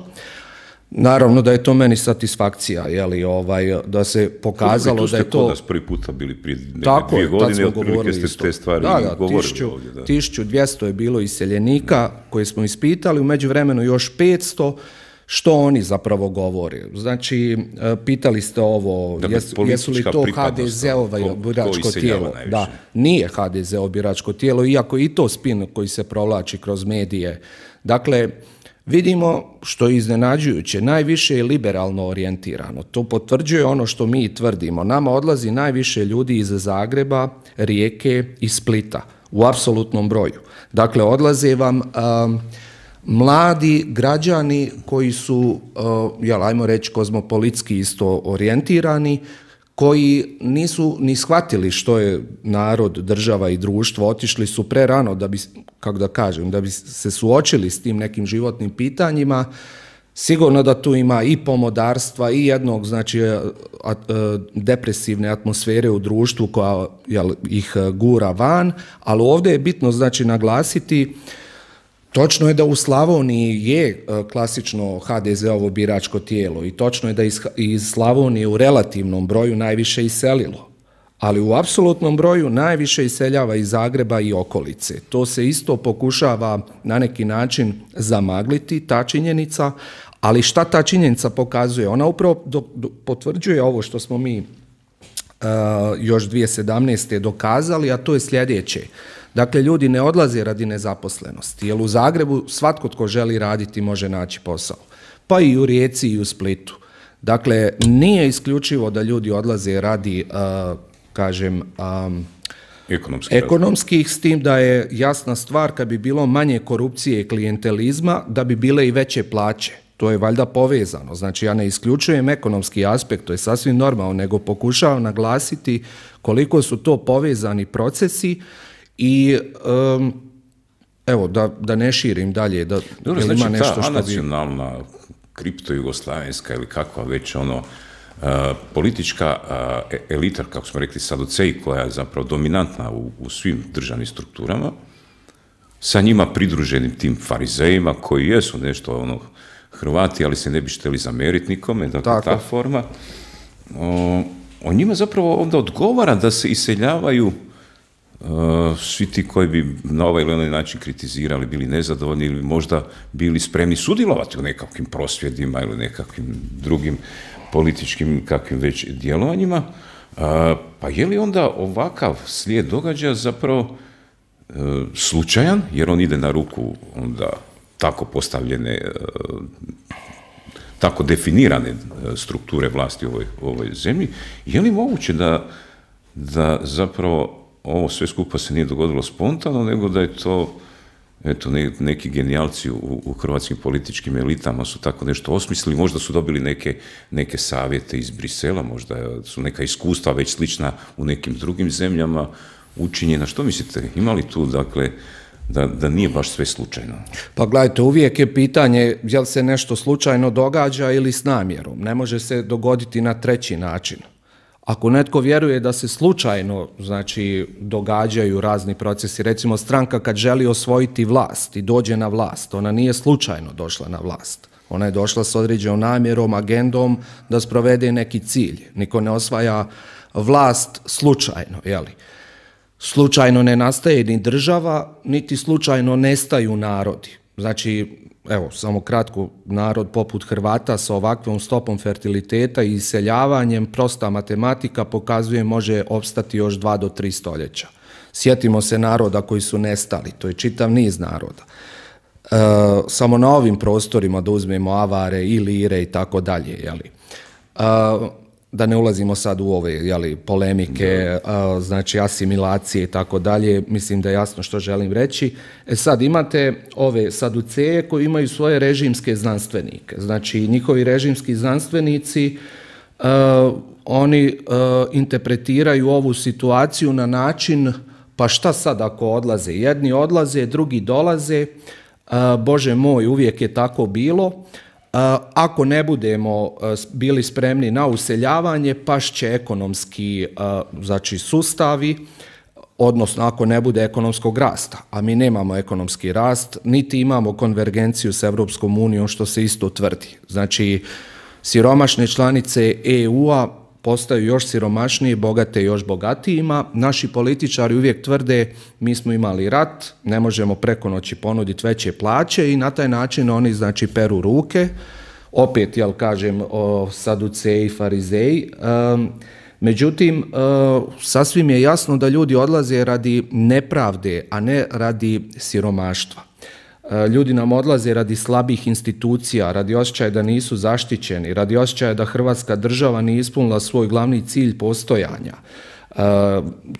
Naravno da je to meni satisfakcija, jeli, ovaj, da se pokazalo da je to... Tu ste kod nas prvi puta bili prije dvije godine, otprilike ste te stvari da, da, govorili tisuću, ovdje. Da. tisuću dvjesto je bilo iseljenika koje smo ispitali, u međuvremenu još petsto. Što oni zapravo govore? Znači, pitali ste ovo, Dakle, jes, jesu li to ha de ze-ovo biračko tijelo? Da, nije ha de ze-ovo biračko tijelo, iako i to spin koji se provlači kroz medije. Dakle, vidimo, što je iznenađujuće, najviše je liberalno orijentirano. To potvrđuje ono što mi tvrdimo. Nama odlazi najviše ljudi iz Zagreba, Rijeke i Splita u apsolutnom broju. Dakle, odlaze vam... Um, mladi građani koji su, uh, jel, ajmo reći, kozmopolitski isto orijentirani, koji nisu ni shvatili što je narod, država i društvo, otišli su prerano da bi, kako da kažem, da bi se suočili s tim nekim životnim pitanjima. Sigurno da tu ima i pomodarstva i jednog, znači, depresivne atmosfere u društvu koja, jel, ih gura van, ali ovdje je bitno, znači, naglasiti Točno je da u Slavoniji je klasično ha de ze-ovo biračko tijelo i točno je da iz, iz Slavonije u relativnom broju najviše iselilo, ali u apsolutnom broju najviše iseljava iz Zagreba i okolice. To se isto pokušava na neki način zamagliti, ta činjenica, ali šta ta činjenica pokazuje? Ona upravo do, do, potvrđuje ovo što smo mi uh, još dvije tisuće sedamnaeste. dokazali, a to je sljedeće. Dakle, ljudi ne odlaze radi nezaposlenosti, jer u Zagrebu svatko tko želi raditi može naći posao, pa i u Rijeci i u Splitu. Dakle, nije isključivo da ljudi odlaze radi, uh, kažem, um, Ekonomski ekonomskih, s tim da je jasna stvar kad bi bilo manje korupcije i klijentelizma, da bi bile i veće plaće. To je valjda povezano. Znači, ja ne isključujem ekonomski aspekt, to je sasvim normalno, nego pokušavam naglasiti koliko su to povezani procesi i um, evo, da, da ne širim dalje. Da, Dobro, znači, ima nešto ta što nacionalna, bi... kripto-jugoslavenska ili kakva već ono, uh, politička uh, elita, kako smo rekli, saduceji, koja je zapravo dominantna u, u svim državnim strukturama, sa njima pridruženim tim farizejima, koji jesu nešto ono, Hrvati, ali se ne bi šteli zameriti nikome, dakle Tako. ta forma. O, o njima zapravo onda odgovara da se iseljavaju uh, svi ti koji bi na ovaj ili onaj način kritizirali, bili nezadovoljni ili možda bili spremni sudjelovati u nekakvim prosvjedima ili nekakvim drugim političkim kakvim već djelovanjima. Uh, pa je li onda ovakav slijed događaja zapravo uh, slučajan, jer on ide na ruku onda tako postavljene, tako definirane strukture vlasti u ovoj, u ovoj zemlji, je li moguće da, da zapravo ovo sve skupa se nije dogodilo spontano, nego da je to, eto, neki genijalci u, u hrvatskim političkim elitama su tako nešto osmislili, možda su dobili neke, neke savjete iz Brisela, možda su neka iskustva već slična u nekim drugim zemljama učinjena. Što mislite, ima li tu, dakle, Da, da nije baš sve slučajno? Pa gledajte, uvijek je pitanje je li se nešto slučajno događa ili s namjerom. Ne može se dogoditi na treći način. Ako netko vjeruje da se slučajno, znači, događaju razni procesi, recimo stranka kad želi osvojiti vlast i dođe na vlast, ona nije slučajno došla na vlast. Ona je došla s određenom namjerom, agendom da sprovede neki cilj. Niko ne osvaja vlast slučajno, jeli? Slučajno ne nastaje ni država, niti slučajno nestaju narodi. Znači, evo, samo kratko, narod poput Hrvata sa ovakvom stopom fertiliteta i iseljavanjem, prosta matematika pokazuje može opstati još dva do tri stoljeća. Sjetimo se naroda koji su nestali, to je čitav niz naroda. E, samo na ovim prostorima da uzmemo Avare, Ilire i tako dalje, jeli. E, da ne ulazimo sad u ove, jeli, polemike, a, znači asimilacije i tako dalje, mislim da je jasno što želim reći. E sad imate ove saduceje koji imaju svoje režimske znanstvenike, znači njihovi režimski znanstvenici, a, oni a, interpretiraju ovu situaciju na način, pa šta sad ako odlaze? Jedni odlaze, drugi dolaze, a, Bože moj, uvijek je tako bilo. Ako ne budemo bili spremni na useljavanje, pašće ekonomski, znači, sustavi, odnosno ako ne bude ekonomskog rasta, a mi nemamo ekonomski rast, niti imamo konvergenciju s Europskom unijom, što se isto tvrdi. Znači, siromašne članice E U-a postaju još siromašnije, bogate još bogatijima. Naši političari uvijek tvrde mi smo imali rat, ne možemo preko noći ponuditi veće plaće i na taj način oni, znači, peru ruke. Opet, jel kažem, o saduceji, farizeji. Um, međutim, uh, sasvim je jasno da ljudi odlaze radi nepravde, a ne radi siromaštva. Ljudi nam odlaze radi slabih institucija, radi osjećaja da nisu zaštićeni, radi osjećaja da Hrvatska država nije ispunila svoj glavni cilj postojanja.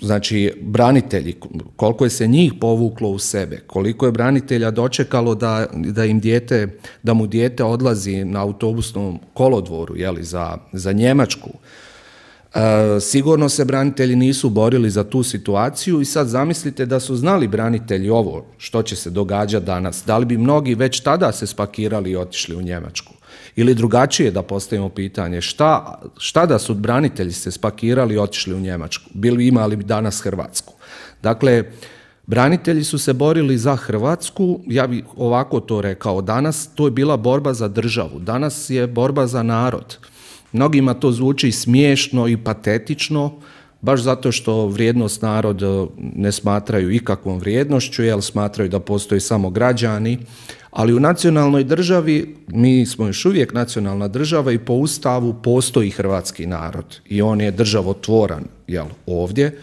Znači, branitelji, koliko je se njih povuklo u sebe, koliko je branitelja dočekalo da, da im dijete, da mu dijete odlazi na autobusnom kolodvoru, jeli, za, za Njemačku. E, sigurno se branitelji nisu borili za tu situaciju i sad zamislite da su znali branitelji ovo što će se događati danas. Da li bi mnogi već tada se spakirali i otišli u Njemačku? Ili drugačije da postavimo pitanje, šta, šta da su branitelji se spakirali i otišli u Njemačku? Bili imali bi danas Hrvatsku? Dakle, Branitelji su se borili za Hrvatsku, ja bih ovako to rekao, danas to je bila borba za državu, danas je borba za narod. Mnogima to zvuči smiješno i patetično, baš zato što vrijednost narod ne smatraju ikakvom vrijednošću, jer smatraju da postoje samo građani, ali u nacionalnoj državi, mi smo još uvijek nacionalna država i po Ustavu postoji hrvatski narod i on je državotvoran, jel, ovdje.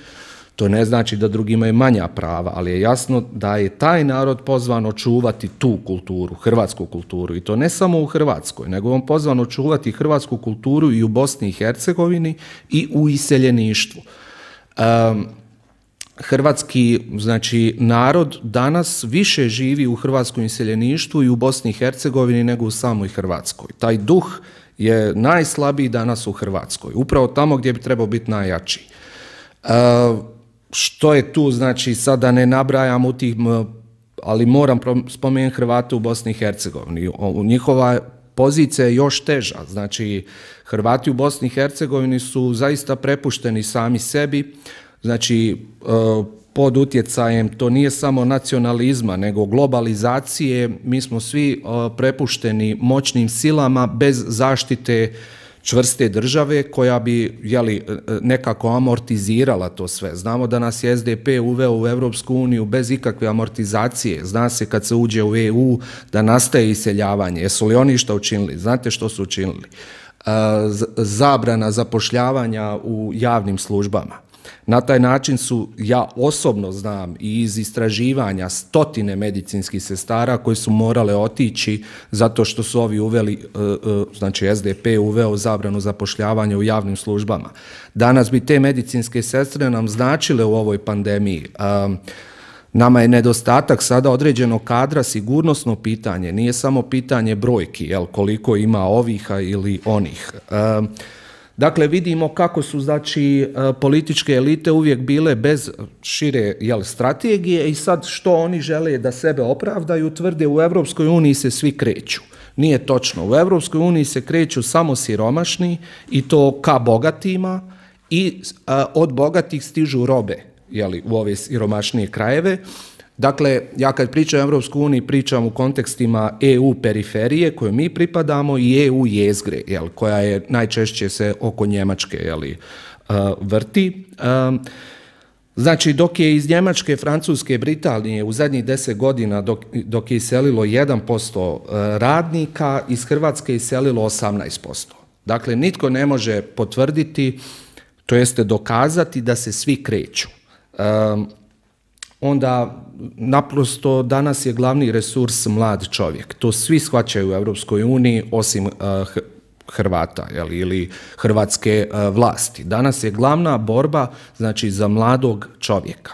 To ne znači da drugi imaju manja prava, ali je jasno da je taj narod pozvan očuvati tu kulturu, hrvatsku kulturu, i to ne samo u Hrvatskoj, nego on pozvan očuvati hrvatsku kulturu i u Bosni i Hercegovini i u iseljeništvu. Um, hrvatski, znači, narod danas više živi u hrvatskom iseljeništvu i u Bosni i Hercegovini nego u samoj Hrvatskoj. Taj duh je najslabiji danas u Hrvatskoj, upravo tamo gdje bi trebao biti najjači. Uh, Što je tu, znači, sada ne nabrajam u tih, ali moram spomenuti Hrvate u Bosni i Hercegovini. Njihova pozicija je još teža. Znači, Hrvati u Bosni i Hercegovini su zaista prepušteni sami sebi. Znači, pod utjecajem, to nije samo nacionalizma, nego globalizacije. Mi smo svi prepušteni moćnim silama bez zaštite čvrste države koja bi, jeli, nekako amortizirala to sve. Znamo da nas je S D P uveo u Europsku uniju bez ikakve amortizacije. Zna se kad se uđe u E U da nastaje iseljavanje. Jesu li oni što učinili? Znate što su učinili? Zabrana zapošljavanja u javnim službama. Na taj način su, ja osobno znam i iz istraživanja, stotine medicinskih sestara koji su morale otići zato što su ovi uveli, znači S D P uveo zabranu zapošljavanja u javnim službama. Danas bi te medicinske sestre nam značile u ovoj pandemiji. Nama je nedostatak sada određenog kadra sigurnosno pitanje, nije samo pitanje brojki, jel, koliko ima ovih ili onih. Dakle, vidimo kako su, znači, političke elite uvijek bile bez šire, jel, strategije i sad što oni žele da sebe opravdaju, tvrde u Europskoj uniji se svi kreću. Nije točno. U Europskoj uniji se kreću samo siromašni i to ka bogatima i a, od bogatih stižu robe, jeli, u ove siromašnije krajeve. Dakle, ja kad pričam o Europskoj uniji pričam u kontekstima E U periferije koje mi pripadamo i E U jezgre, jel, koja je najčešće se oko Njemačke, jeli, uh, vrti. Um, znači, dok je iz Njemačke, Francuske, Britanije u zadnjih deset godina dok, dok je iselilo jedan posto radnika, iz Hrvatske je iselilo osamnaest posto. Dakle, nitko ne može potvrditi, to jeste dokazati da se svi kreću. Um, onda naprosto danas je glavni resurs mlad čovjek. To svi shvaćaju u Europskoj uniji osim uh, Hrvata, jel, ili hrvatske uh, vlasti. Danas je glavna borba, znači, za mladog čovjeka.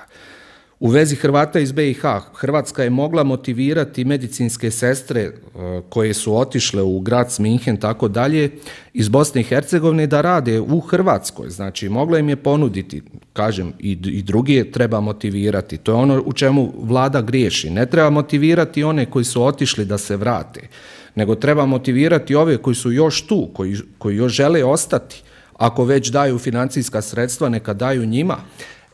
U vezi Hrvata iz B i H, Hrvatska je mogla motivirati medicinske sestre uh, koje su otišle u Graz, Minhen, tako dalje, iz Bosne i Hercegovine da rade u Hrvatskoj. Znači, mogla im je ponuditi, kažem, i, i drugi treba motivirati. To je ono u čemu vlada griješi. Ne treba motivirati one koji su otišli da se vrate, nego treba motivirati ove koji su još tu, koji, koji još žele ostati. Ako već daju financijska sredstva, neka daju njima.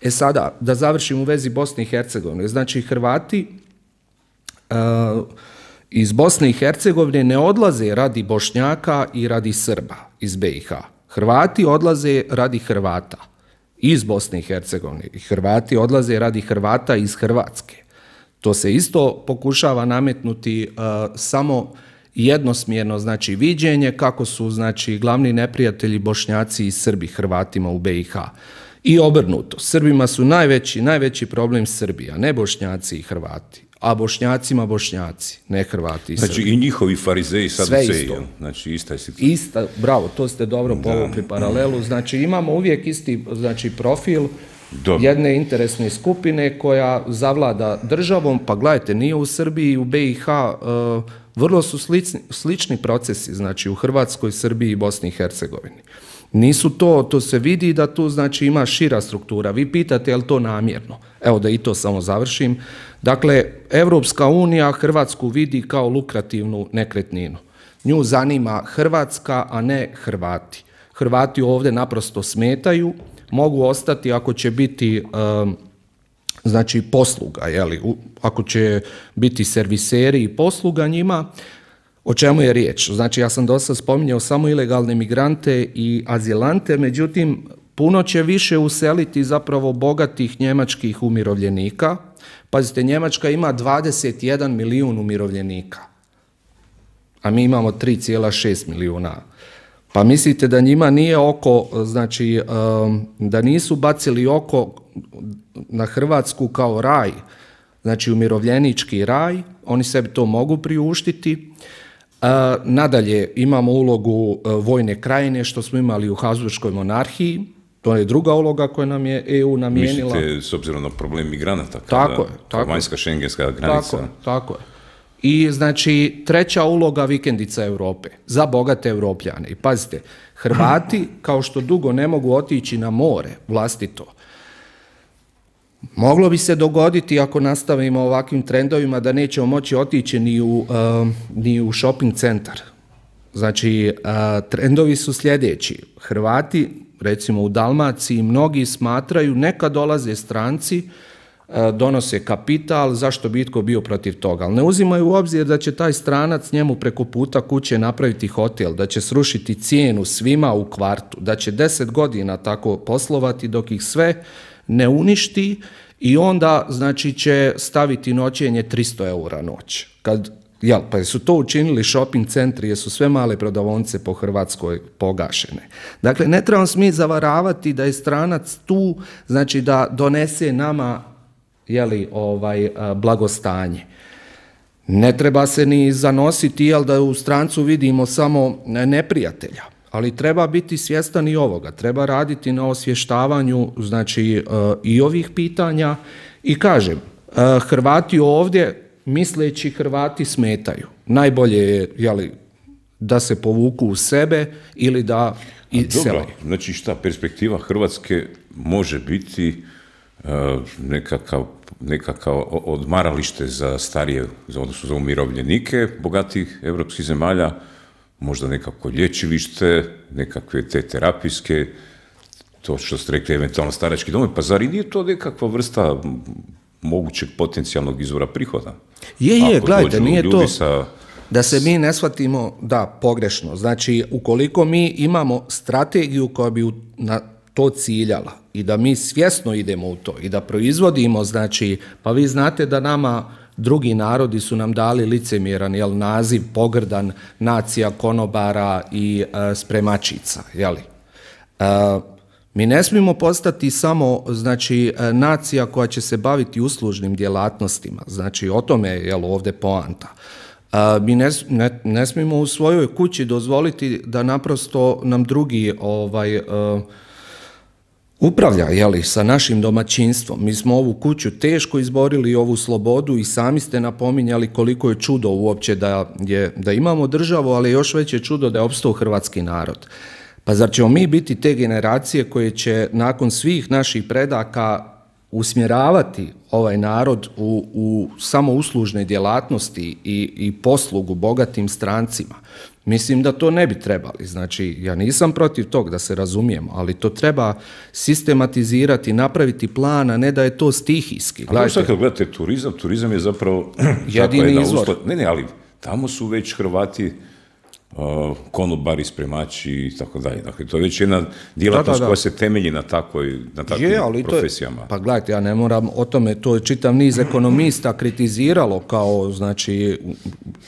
E sada, da završim u vezi Bosne i Hercegovine. Znači, Hrvati uh, iz Bosne i Hercegovine ne odlaze radi Bošnjaka i radi Srba iz B i H. Hrvati odlaze radi Hrvata iz Bosne i Hercegovine. I Hrvati odlaze radi Hrvata iz Hrvatske. To se isto pokušava nametnuti uh, samo jednosmjerno, znači, viđenje kako su, znači, glavni neprijatelji Bošnjaci i Srbi Hrvatima u B i H. I obrnuto, Srbima su najveći, najveći problem Srbija, ne Bošnjaci i Hrvati, a Bošnjacima Bošnjaci, ne Hrvati i Srbi. Znači, i njihovi farizeji saduceji, znači, ista je situacija. Ista, bravo, to ste dobro povukli paralelu. Znači, imamo uvijek isti, znači, profil Dobro. jedne interesne skupine koja zavlada državom. Pa gledajte, nije u Srbiji i u B i H, uh, vrlo su slični, slični procesi, znači, u Hrvatskoj, Srbiji i Bosni i Hercegovini. Nisu to, to se vidi da tu, znači, ima šira struktura. Vi pitate je li to namjerno? Evo da i to samo završim. Dakle, Europska unija Hrvatsku vidi kao lukrativnu nekretninu. Nju zanima Hrvatska, a ne Hrvati. Hrvati ovdje naprosto smetaju, mogu ostati ako će biti um, znači posluga, jeli, ako će biti serviseri i posluga njima, o čemu je riječ? Znači ja sam dosta spominjao samo ilegalne migrante i azilante, međutim puno će više useliti zapravo bogatih njemačkih umirovljenika. Pazite, Njemačka ima dvadeset jedan milijun umirovljenika, a mi imamo tri zarez šest milijuna. Pa mislite da njima nije oko, znači da nisu bacili oko na Hrvatsku kao raj, znači umirovljenički raj, oni sebi to mogu priuštiti. Nadalje imamo ulogu vojne krajine što smo imali u Habsburškoj monarhiji, to je druga uloga koja nam je E U namijenila. Mislite s obzirom na problem migranata, tako je, tako vanjska šengenska granica. Tako je, tako je. I znači treća uloga vikendica Europe, za bogate Europljane. I pazite, Hrvati kao što dugo ne mogu otići na more vlastito, moglo bi se dogoditi ako nastavimo ovakvim trendovima da nećemo moći otići ni u, uh, ni u shopping centar. Znači, uh, trendovi su sljedeći. Hrvati, recimo u Dalmaciji, mnogi smatraju neka dolaze stranci, donose kapital, zašto bi itko bio protiv toga. Ali ne uzimaju u obzir da će taj stranac njemu preko puta kuće napraviti hotel, da će srušiti cijenu svima u kvartu, da će deset godina tako poslovati dok ih sve ne uništi i onda znači će staviti noćenje tristo eura noć. Kad, jel, pa su to učinili shopping centri jer su sve male prodavnice po Hrvatskoj pogašene. Dakle, ne trebamo mi zavaravati da je stranac tu, znači da donese nama jeli, ovaj, blagostanje. Ne treba se ni zanositi, jel, da u strancu vidimo samo neprijatelja, ali treba biti svjestan i ovoga, treba raditi na osvještavanju znači, i ovih pitanja i kažem, Hrvati ovdje, misleći Hrvati smetaju. Najbolje je jeli, da se povuku u sebe ili da iselaju. Znači šta, perspektiva Hrvatske može biti nekakav, nekakav odmaralište za starije, odnosno za umirovljenike bogatih europskih zemalja, možda nekako lječilište, nekakve te terapijske, to što ste rekli, eventualno starački domovi, pa zar i nije to nekakva vrsta mogućeg potencijalnog izvora prihoda? Je, je, gledajte, nije to, sa... da se mi ne shvatimo, da, pogrešno. Znači, ukoliko mi imamo strategiju koja bi na to ciljala i da mi svjesno idemo u to i da proizvodimo, znači, pa vi znate da nama drugi narodi su nam dali licemjeran jel, naziv, pogrdan, nacija konobara i e, spremačica, jeli? E, mi ne smijemo postati samo, znači, nacija koja će se baviti uslužnim djelatnostima, znači, o tome je jel, ovdje poanta. E, mi ne, ne, ne smijemo u svojoj kući dozvoliti da naprosto nam drugi ovaj, e, upravlja, jeli, sa našim domaćinstvom. Mi smo ovu kuću teško izborili, ovu slobodu i sami ste napominjali koliko je čudo uopće da, je, da imamo državu, ali još veće čudo da je opstao hrvatski narod. Pa zar ćemo mi biti te generacije koje će nakon svih naših predaka usmjeravati ovaj narod u, u samo uslužne djelatnosti i, i poslugu bogatim strancima? Mislim da to ne bi trebali. Znači, ja nisam protiv tog, da se razumijemo, ali to treba sistematizirati, napraviti plan, a ne da je to stihijski. A sad kad gledate turizam, turizam je zapravo jedini izvor. Uslov... Ne, ne, ali tamo su već Hrvati uh, konobari, spremači i tako dalje. Dakle, to je već jedna djelatnost da, da, da. koja se temelji na, takvoj, na takvim je, ali profesijama. Je, pa gledajte, ja ne moram o tome, to je čitav niz ekonomista kritiziralo kao, znači,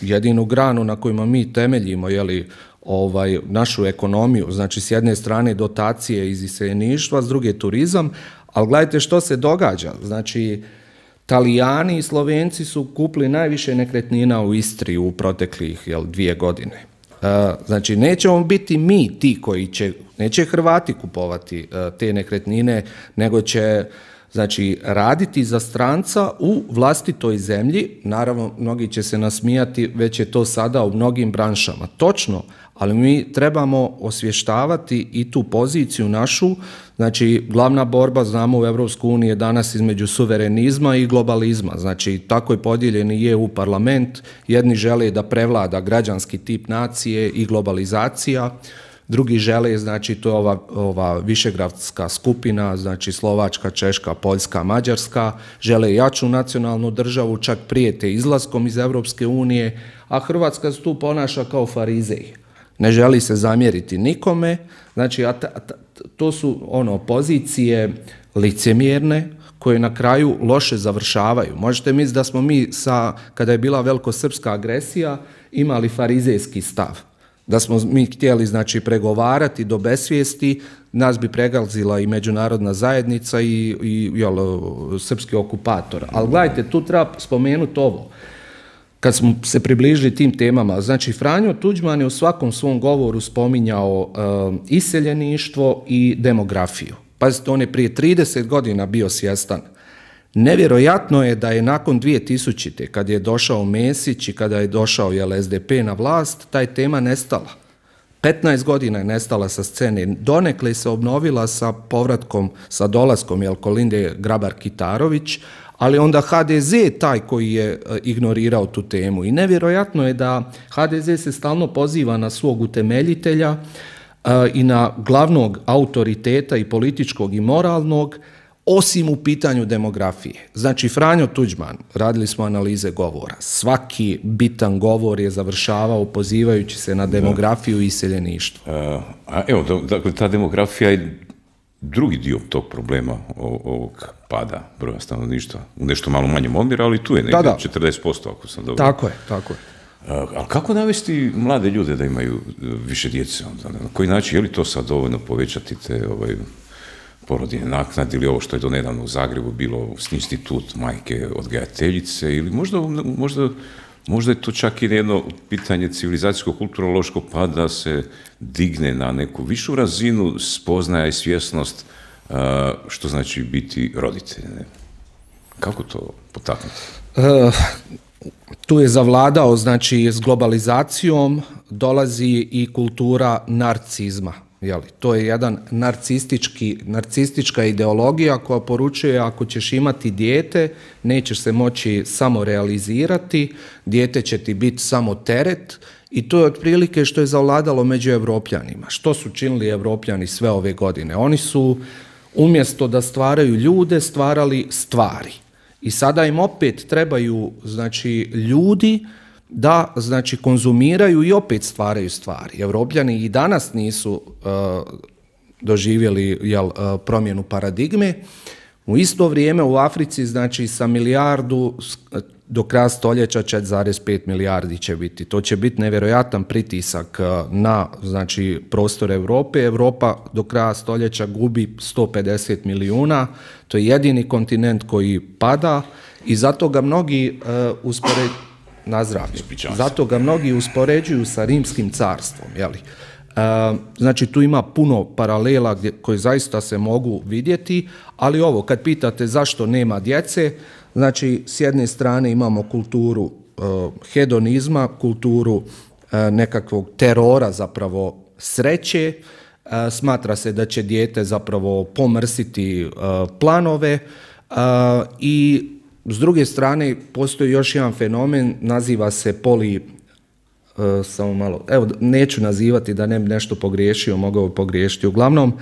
jedinu granu na kojima mi temeljimo, jeli, ovaj, našu ekonomiju, znači s jedne strane dotacije iz iseljeništva, s druge turizam, ali gledajte što se događa, znači Talijani i Slovenci su kupili najviše nekretnina u Istri u proteklih jel, dvije godine. Uh, znači nećemo biti mi ti koji će, neće Hrvati kupovati uh, te nekretnine, nego će znači raditi za stranca u vlastitoj zemlji. Naravno, mnogi će se nasmijati, već je to sada u mnogim branšama. Točno, ali mi trebamo osvještavati i tu poziciju našu. Znači, glavna borba, znamo, u Europskoj uniji je danas između suverenizma i globalizma. Znači, tako je podijeljen i E U parlament. Jedni žele da prevlada građanski tip nacije i globalizacija. drugi žele, znači to je ova, ova višegradska skupina, znači Slovačka, Češka, Poljska, Mađarska, žele jaču nacionalnu državu, čak prijete izlaskom iz Europske unije, a Hrvatska se tu ponaša kao farizeji. Ne želi se zamjeriti nikome, znači a ta, ta, to su ono pozicije licemjerne koje na kraju loše završavaju. Možete misliti da smo mi, sa, kada je bila velikosrpska agresija, imali farizejski stav. Da smo mi htjeli znači, pregovarati do besvijesti, nas bi pregazila i međunarodna zajednica i, i jel, srpski okupator. Ali gledajte, tu treba spomenuti ovo. Kad smo se približili tim temama, znači Franjo Tuđman je u svakom svom govoru spominjao um, iseljeništvo i demografiju. Pazite, on je prije trideset godina bio svjestan. Nevjerojatno je da je nakon dvije tisućite. kad je došao Mesić i kada je došao jel, S D P na vlast, taj tema nestala. petnaest godina je nestala sa scene. Donekle se obnovila sa povratkom, sa dolaskom jel, Kolinde Grabar-Kitarović, ali onda H D Z je taj koji je ignorirao tu temu. I nevjerojatno je da H D Z se stalno poziva na svog utemeljitelja uh, i na glavnog autoriteta i političkog i moralnog, osim u pitanju demografije. Znači, Franjo Tuđman, radili smo analize govora, svaki bitan govor je završavao pozivajući se na demografiju i iseljeništvo. A, a evo, dakle, ta demografija je drugi dio tog problema ovog pada broja stanovništva. U nešto malo manjem omjeru, ali tu je negdje da, da. četrdeset posto, ako sam dobro. Tako je, tako je. A, ali kako navesti mlade ljude da imaju više djece? Onda? Na koji način? Je li to sad dovoljno povećati te ovaj, porodiljne naknade ili ovo što je do nedavno u Zagrebu bilo institut majke odgajateljice ili možda, možda, možda je to čak i jedno pitanje civilizacijsko-kulturološko pa da se digne na neku višu razinu spoznaja i svjesnost uh, što znači biti roditelj. Ne? Kako to potaknuti? Uh, tu je zavladao, znači s globalizacijom dolazi i kultura narcizma. Jeli, to je jedan narcistički, narcistička ideologija koja poručuje ako ćeš imati dijete, nećeš se moći samo realizirati, dijete će ti biti samo teret i to je otprilike što je zavladalo među Evropljanima. Što su činili Evropljani sve ove godine? Oni su umjesto da stvaraju ljude, stvarali stvari. I sada im opet trebaju znači, ljudi da znači konzumiraju i opet stvaraju stvari. Evropljani i danas nisu uh, doživjeli jel, uh, promjenu paradigme. U isto vrijeme u Africi znači sa milijardu do kraja stoljeća četiri zarez pet milijardi će biti. To će biti nevjerojatan pritisak uh, na znači prostor Europe. Europa do kraja stoljeća gubi sto pedeset milijuna. To je jedini kontinent koji pada i zato ga mnogi uh, uspoređuju na zdravlje. Zato ga mnogi uspoređuju sa Rimskim carstvom. Jeli? E, znači tu ima puno paralela gdje, koje zaista se mogu vidjeti, ali ovo kad pitate zašto nema djece, znači s jedne strane imamo kulturu e, hedonizma, kulturu e, nekakvog terora zapravo sreće, e, smatra se da će dijete zapravo pomrsiti e, planove e, i s druge strane, postoji još jedan fenomen, naziva se poli, uh, samo malo, evo, neću nazivati da ne bi nešto pogriješio, mogao bi pogriješiti, uglavnom,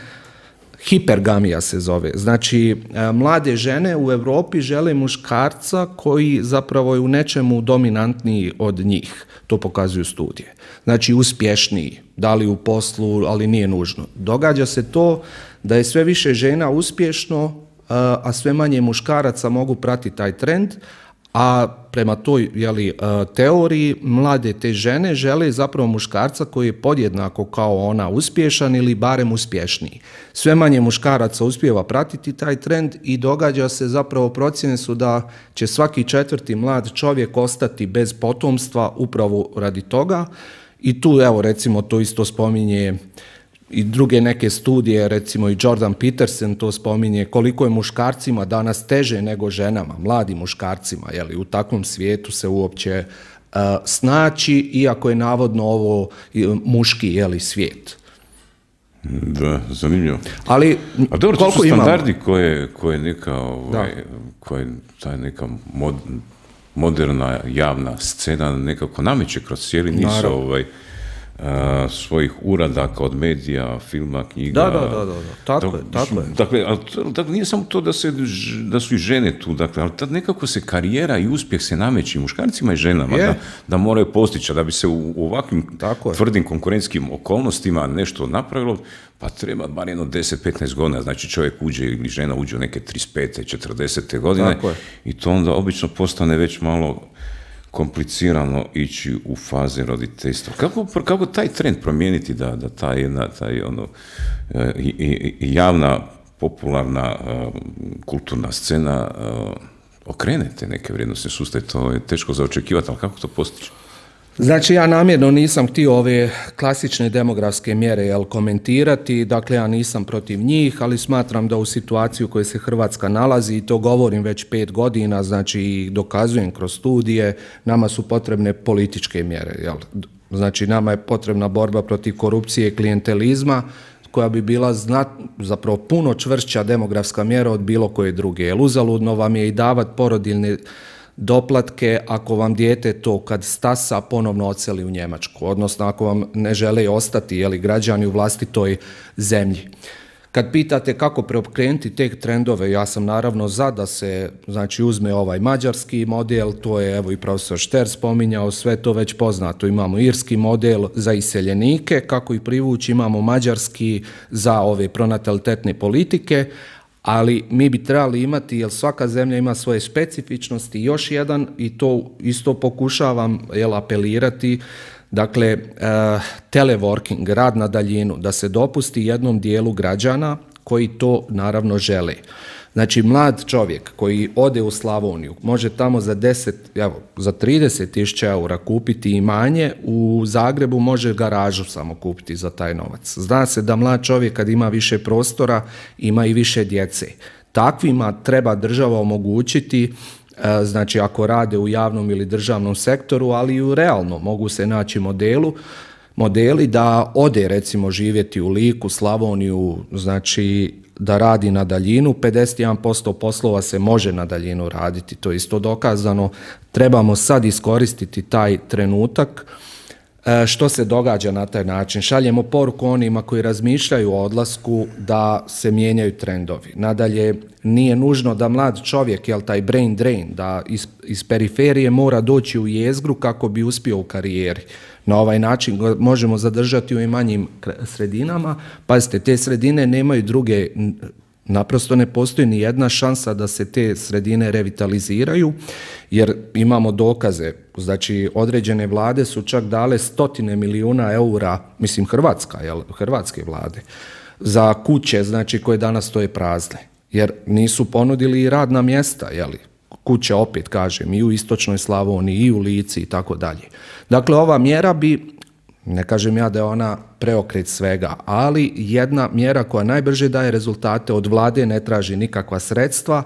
hipergamija se zove. Znači, uh, mlade žene u Europi žele muškarca koji zapravo je u nečemu dominantniji od njih, to pokazuju studije. Znači, uspješniji, da li u poslu, ali nije nužno. Događa se to da je sve više žena uspješno, a sve manje muškaraca mogu pratiti taj trend, a prema toj jeli, teoriji mlade te žene žele zapravo muškarca koji je podjednako kao ona uspješan ili barem uspješniji. Sve manje muškaraca uspijeva pratiti taj trend i događa se zapravo procjene su da će svaki četvrti mlad čovjek ostati bez potomstva upravo radi toga i tu evo recimo to isto spominje i druge neke studije, recimo i Jordan Peterson to spominje, koliko je muškarcima danas teže nego ženama, mladim muškarcima, jeli, u takvom svijetu se uopće uh, snaći, iako je navodno ovo muški jeli, svijet. Da, zanimljivo. Ali, a dobro, koliko to su standardi imamo? koje, koje neka, ovaj, koje taj neka mod, moderna javna scena nekako nameće kroz cijeli niz ovaj, svojih uradaka od medija, filma, knjiga. Da, da, da, da. Tako da, je, tako je. Dakle, ali, dakle, nije samo to da, se, da su i žene tu, dakle, ali tad nekako se karijera i uspjeh se nameći muškarcima i ženama, da, da moraju postići, da bi se u, u ovakvim tvrdim konkurentskim okolnostima nešto napravilo, pa treba bar jedno deset do petnaest godina, znači čovjek uđe ili žena uđe u neke trideset pete, četrdesete godine i to onda obično postane već malo komplicirano ići u faze roditeljstva. Kako, kako taj trend promijeniti da, da ta jedna, taj ono, i, i, i javna, popularna, uh, kulturna scena uh, okrene te neke vrijednostne sustave? To je teško za očekivati, ali kako to postići? Znači, ja namjerno nisam htio ove klasične demografske mjere jel, komentirati, dakle ja nisam protiv njih, ali smatram da u situaciji u kojoj se Hrvatska nalazi, i to govorim već pet godina, znači i dokazujem kroz studije, nama su potrebne političke mjere. Jel? Znači, nama je potrebna borba protiv korupcije i klijentelizma, koja bi bila znat, zapravo puno čvršća demografska mjera od bilo koje druge. Jer uzaludno vam je i davat porodiljne doplatke ako vam dijete to kad stasa ponovno odseli u Njemačku, odnosno ako vam ne žele ostati jeli, građani u vlastitoj zemlji. Kad pitate kako preokrenuti te trendove, ja sam naravno za da se znači, uzme ovaj mađarski model, to je evo i profesor Šter spominjao, sve to već poznato. Imamo irski model za iseljenike, kako i privući, imamo mađarski za ove pronatalitetne politike, ali mi bi trebali imati, jer svaka zemlja ima svoje specifičnosti, još jedan, i to isto pokušavam jel, apelirati, dakle, uh, teleworking, rad na daljinu, da se dopusti jednom dijelu građana koji to naravno žele. Znači, mlad čovjek koji ode u Slavoniju može tamo za deset, evo, za trideset tisuća eura kupiti imanje, u Zagrebu može garažu samo kupiti za taj novac. Zna se da mlad čovjek kad ima više prostora, ima i više djece. Takvima treba država omogućiti, znači ako rade u javnom ili državnom sektoru, ali i u realnom, mogu se naći modelu, modeli da ode recimo živjeti u Liku, Slavoniju, znači da radi na daljinu, pedeset jedan posto poslova se može na daljinu raditi, to je isto dokazano. Trebamo sad iskoristiti taj trenutak. Što se događa na taj način? Šaljemo poruku onima koji razmišljaju o odlasku da se mijenjaju trendovi. Nadalje, nije nužno da mlad čovjek, jel taj brain drain, da iz, iz periferije mora doći u jezgru kako bi uspio u karijeri. Na ovaj način možemo zadržati u manjim sredinama. Pazite, te sredine nemaju druge, naprosto ne postoji ni jedna šansa da se te sredine revitaliziraju, jer imamo dokaze. Znači, određene vlade su čak dale stotine milijuna eura, mislim Hrvatska, jel, hrvatske vlade, za kuće, znači, koje danas stoje prazne, jer nisu ponudili radna mjesta, jeli, kuće, opet kažem, i u istočnoj Slavoniji, i u Lici i tako dalje. Dakle, ova mjera bi, ne kažem ja da je ona preokret svega, ali jedna mjera koja najbrže daje rezultate, od vlade ne traži nikakva sredstva,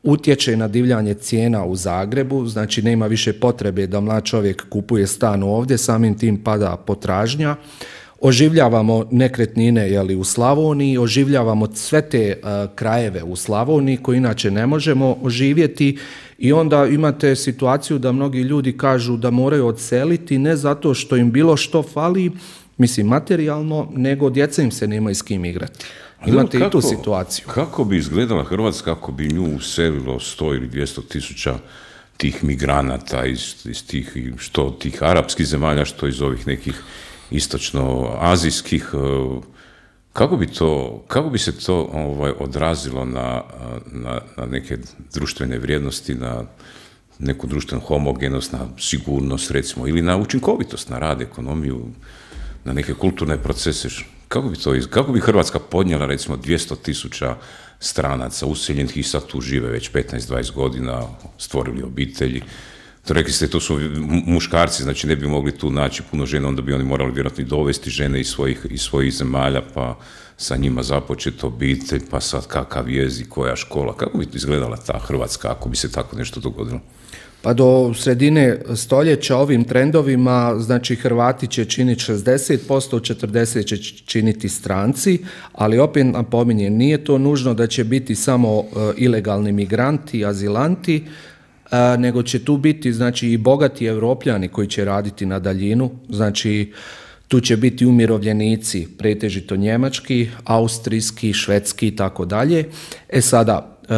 utječe na divljanje cijena u Zagrebu, znači nema više potrebe da mlad čovjek kupuje stan ovdje, samim tim pada potražnja. Oživljavamo nekretnine jeli, u Slavoniji, oživljavamo sve te uh, krajeve u Slavoniji koje inače ne možemo oživjeti, i onda imate situaciju da mnogi ljudi kažu da moraju odseliti ne zato što im bilo što fali, mislim materijalno, nego djeca im se nemaju s kim igrati. Imate kako, i tu situaciju. Kako bi izgledala Hrvatska ako bi nju uselilo sto ili dvjesto tisuća tih migranata iz, iz tih, što tih arapskih zemalja, što iz ovih nekih istočno-azijskih, kako bi to, kako bi se to ovaj, odrazilo na, na, na neke društvene vrijednosti, na neku društvenu homogenost, na sigurnost recimo, ili na učinkovitost, na rad, ekonomiju, na neke kulturne procese? Kako bi to, kako bi Hrvatska podnijela recimo dvjesto tisuća stranaca useljenih i sad tu žive već petnaest do dvadeset godina, stvorili obitelji? To rekli ste, to su muškarci, znači ne bi mogli tu naći puno žena, onda bi oni morali vjerojatno dovesti žene iz svojih, iz svojih zemalja, pa sa njima započeti obitelj, pa sad kakav jezik, koja škola. Kako bi izgledala ta Hrvatska ako bi se tako nešto dogodilo? Pa do sredine stoljeća ovim trendovima, znači Hrvati će činiti šezdeset posto, četrdeset posto će činiti stranci, ali opet napominjem, nije to nužno da će biti samo uh, ilegalni migranti, azilanti, uh, nego će tu biti znači i bogati Evropljani koji će raditi na daljinu, znači Tu će biti umirovljenici, pretežito njemački, austrijski, švedski i tako dalje. E sada, e,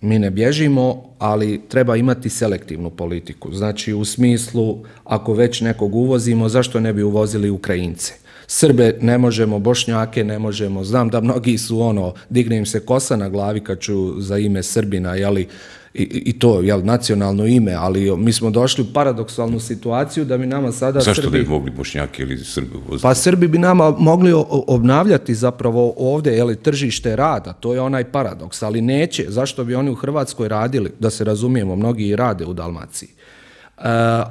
mi ne bježimo, ali treba imati selektivnu politiku. Znači, u smislu, ako već nekog uvozimo, zašto ne bi uvozili Ukrajince? Srbe ne možemo, Bošnjake ne možemo. Znam da mnogi su ono, digne im se kosa na glavi kad ću za ime Srbina, jeli, i, i to, jel, nacionalno ime, ali mi smo došli u paradoksalnu situaciju da bi nama sada Zašto Srbi... ne bi mogli Bošnjaki ili Srbi uvoziti? Pa Srbi bi nama mogli obnavljati zapravo ovdje, jeli, tržište rada, to je onaj paradoks, ali neće. Zašto bi oni u Hrvatskoj radili? Da se razumijemo, mnogi i rade u Dalmaciji. E,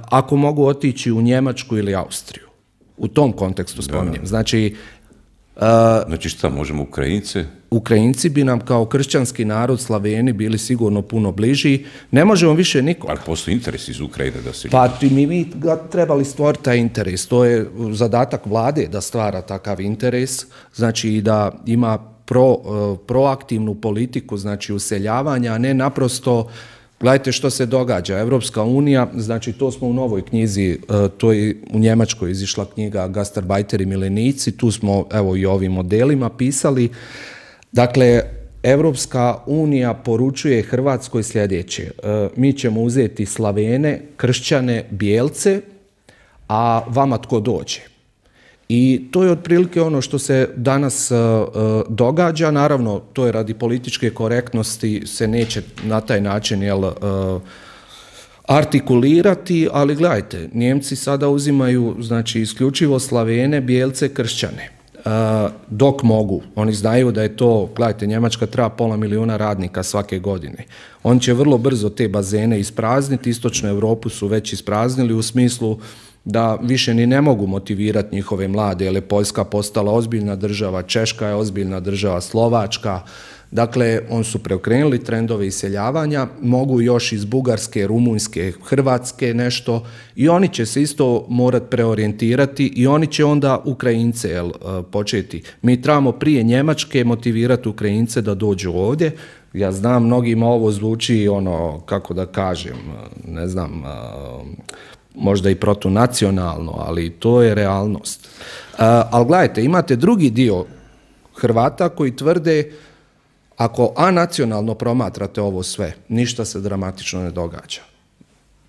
ako mogu otići u Njemačku ili Austriju. U tom kontekstu spominjem. Znači, uh, znači šta, možemo Ukrajince? Ukrajinci bi nam kao kršćanski narod, Slaveni, bili sigurno puno bliži. Ne možemo više nikoga. Ali postoji interes iz Ukrajine da se... Pa mi bi trebali stvoriti taj interes. To je zadatak vlade da stvara takav interes. Znači i da ima pro, uh, proaktivnu politiku, znači useljavanja, a ne naprosto... Gledajte što se događa. Evropska unija, znači to smo u novoj knjizi, to je u Njemačkoj izišla knjiga Gastarbajteri i milenici, tu smo evo i ovim modelima pisali. Dakle, Evropska unija poručuje Hrvatskoj sljedeće. Mi ćemo uzeti Slavene, kršćane, bijelce, a vama tko dođe. I to je otprilike ono što se danas uh, događa. Naravno, to je radi političke korektnosti, se neće na taj način jel, uh, artikulirati, ali gledajte, Njemci sada uzimaju, znači, isključivo Slavene, bijelce, kršćane. Uh, dok mogu. Oni znaju da je to, gledajte, Njemačka treba pola milijuna radnika svake godine. On će vrlo brzo te bazene isprazniti, istočnu Europu su već ispraznili u smislu da više ni ne mogu motivirati njihove mlade, jer je Poljska postala ozbiljna država, Češka je ozbiljna država, Slovačka. Dakle, oni su preokrenuli trendove iseljavanja, mogu još iz Bugarske, Rumunjske, Hrvatske nešto i oni će se isto morati preorijentirati i oni će onda Ukrajince jel, početi. Mi trebamo prije Njemačke motivirati Ukrajince da dođu ovdje. Ja znam, mnogima ovo zvuči ono, kako da kažem, ne znam, možda i protunacionalno, ali to je realnost. Uh, ali gledajte, imate drugi dio Hrvata koji tvrde ako anacionalno promatrate ovo sve, ništa se dramatično ne događa.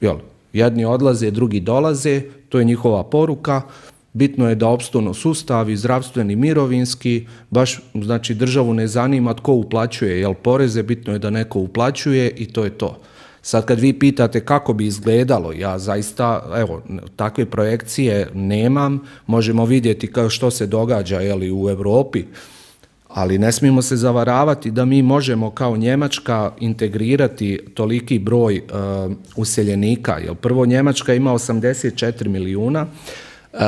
Jel? Jedni odlaze, drugi dolaze, to je njihova poruka. Bitno je da opstanu sustavi, zdravstveni, mirovinski, baš znači državu ne zanima tko uplaćuje, jel poreze, bitno je da neko uplaćuje i to je to. Sad kad vi pitate kako bi izgledalo, ja zaista, evo, takve projekcije nemam, možemo vidjeti kao što se događa jeli, u Europi, ali ne smijemo se zavaravati da mi možemo kao Njemačka integrirati toliki broj uh, useljenika. Jer prvo, Njemačka ima osamdeset četiri milijuna, uh,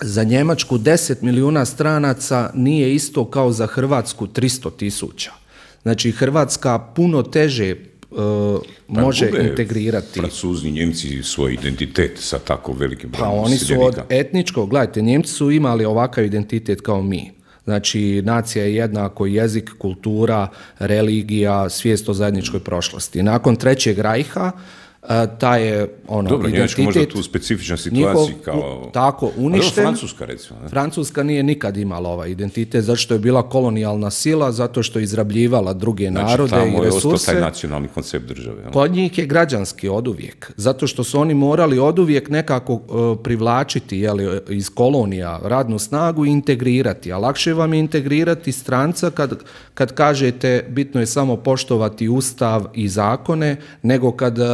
za Njemačku deset milijuna stranaca nije isto kao za Hrvatsku tristo tisuća. Znači Hrvatska puno teže Uh, može integrirati. Francuzi, Njemci svoj identitet sa tako velikim brojem pa oni su od etničkog, gledajte, Njemci su imali ovakav identitet kao mi. Znači, nacija je jednako jezik, kultura, religija, svijest o zajedničkoj prošlosti. Nakon Trećeg rajha, ta je ono, dobro, identitet... Dobro, možda tu specifična situacija kao... Tako, uništen. Francuska, recimo. Ne? Francuska nije nikad imala ovaj identitet, zato što je bila kolonijalna sila, zato što je izrabljivala druge znači, narode i resurse. Znači, tamo je ostao taj nacionalni koncept države. Ne? Kod njih je građanski oduvijek, zato što su oni morali oduvijek nekako uh, privlačiti jeli, iz kolonija radnu snagu i integrirati, a lakše vam je integrirati stranca kad, kad kažete bitno je samo poštovati ustav i zakone, nego kad uh,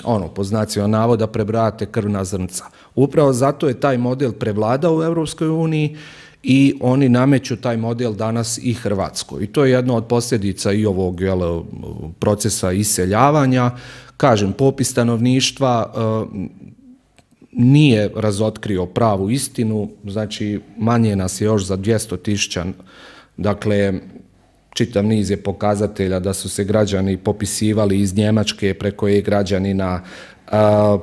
ono, po znacima navoda prebrajate krvna zrnca. Upravo zato je taj model prevladao u Europskoj uniji i oni nameću taj model danas i Hrvatskoj. I to je jedna od posljedica i ovog jel, procesa iseljavanja. Kažem, popis stanovništva uh, nije razotkrio pravu istinu, znači manje nas je još za dvjesto tisuća, dakle, čitav niz je pokazatelja da su se građani popisivali iz Njemačke preko e-građanina.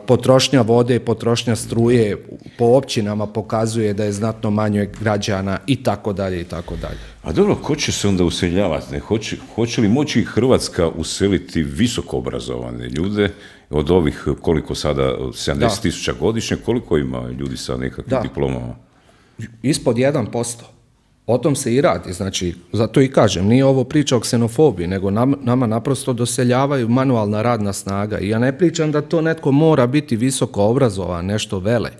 Potrošnja vode, potrošnja struje po općinama pokazuje da je znatno manje građana i tako dalje i tako dalje. A dobro, ko će se onda useljavati? Ne? Hoće, hoće li moći Hrvatska useliti visoko obrazovane ljude Od ovih, koliko sada, sedamdeset tisuća godišnje, koliko ima ljudi sa nekakvim da. diplomama? Ispod jedan posto. O tom se i radi, znači, zato i kažem, nije ovo priča o ksenofobiji, nego nam, nama naprosto doseljavaju manualna radna snaga. I ja ne pričam da to netko mora biti visoko obrazovan, nešto vele,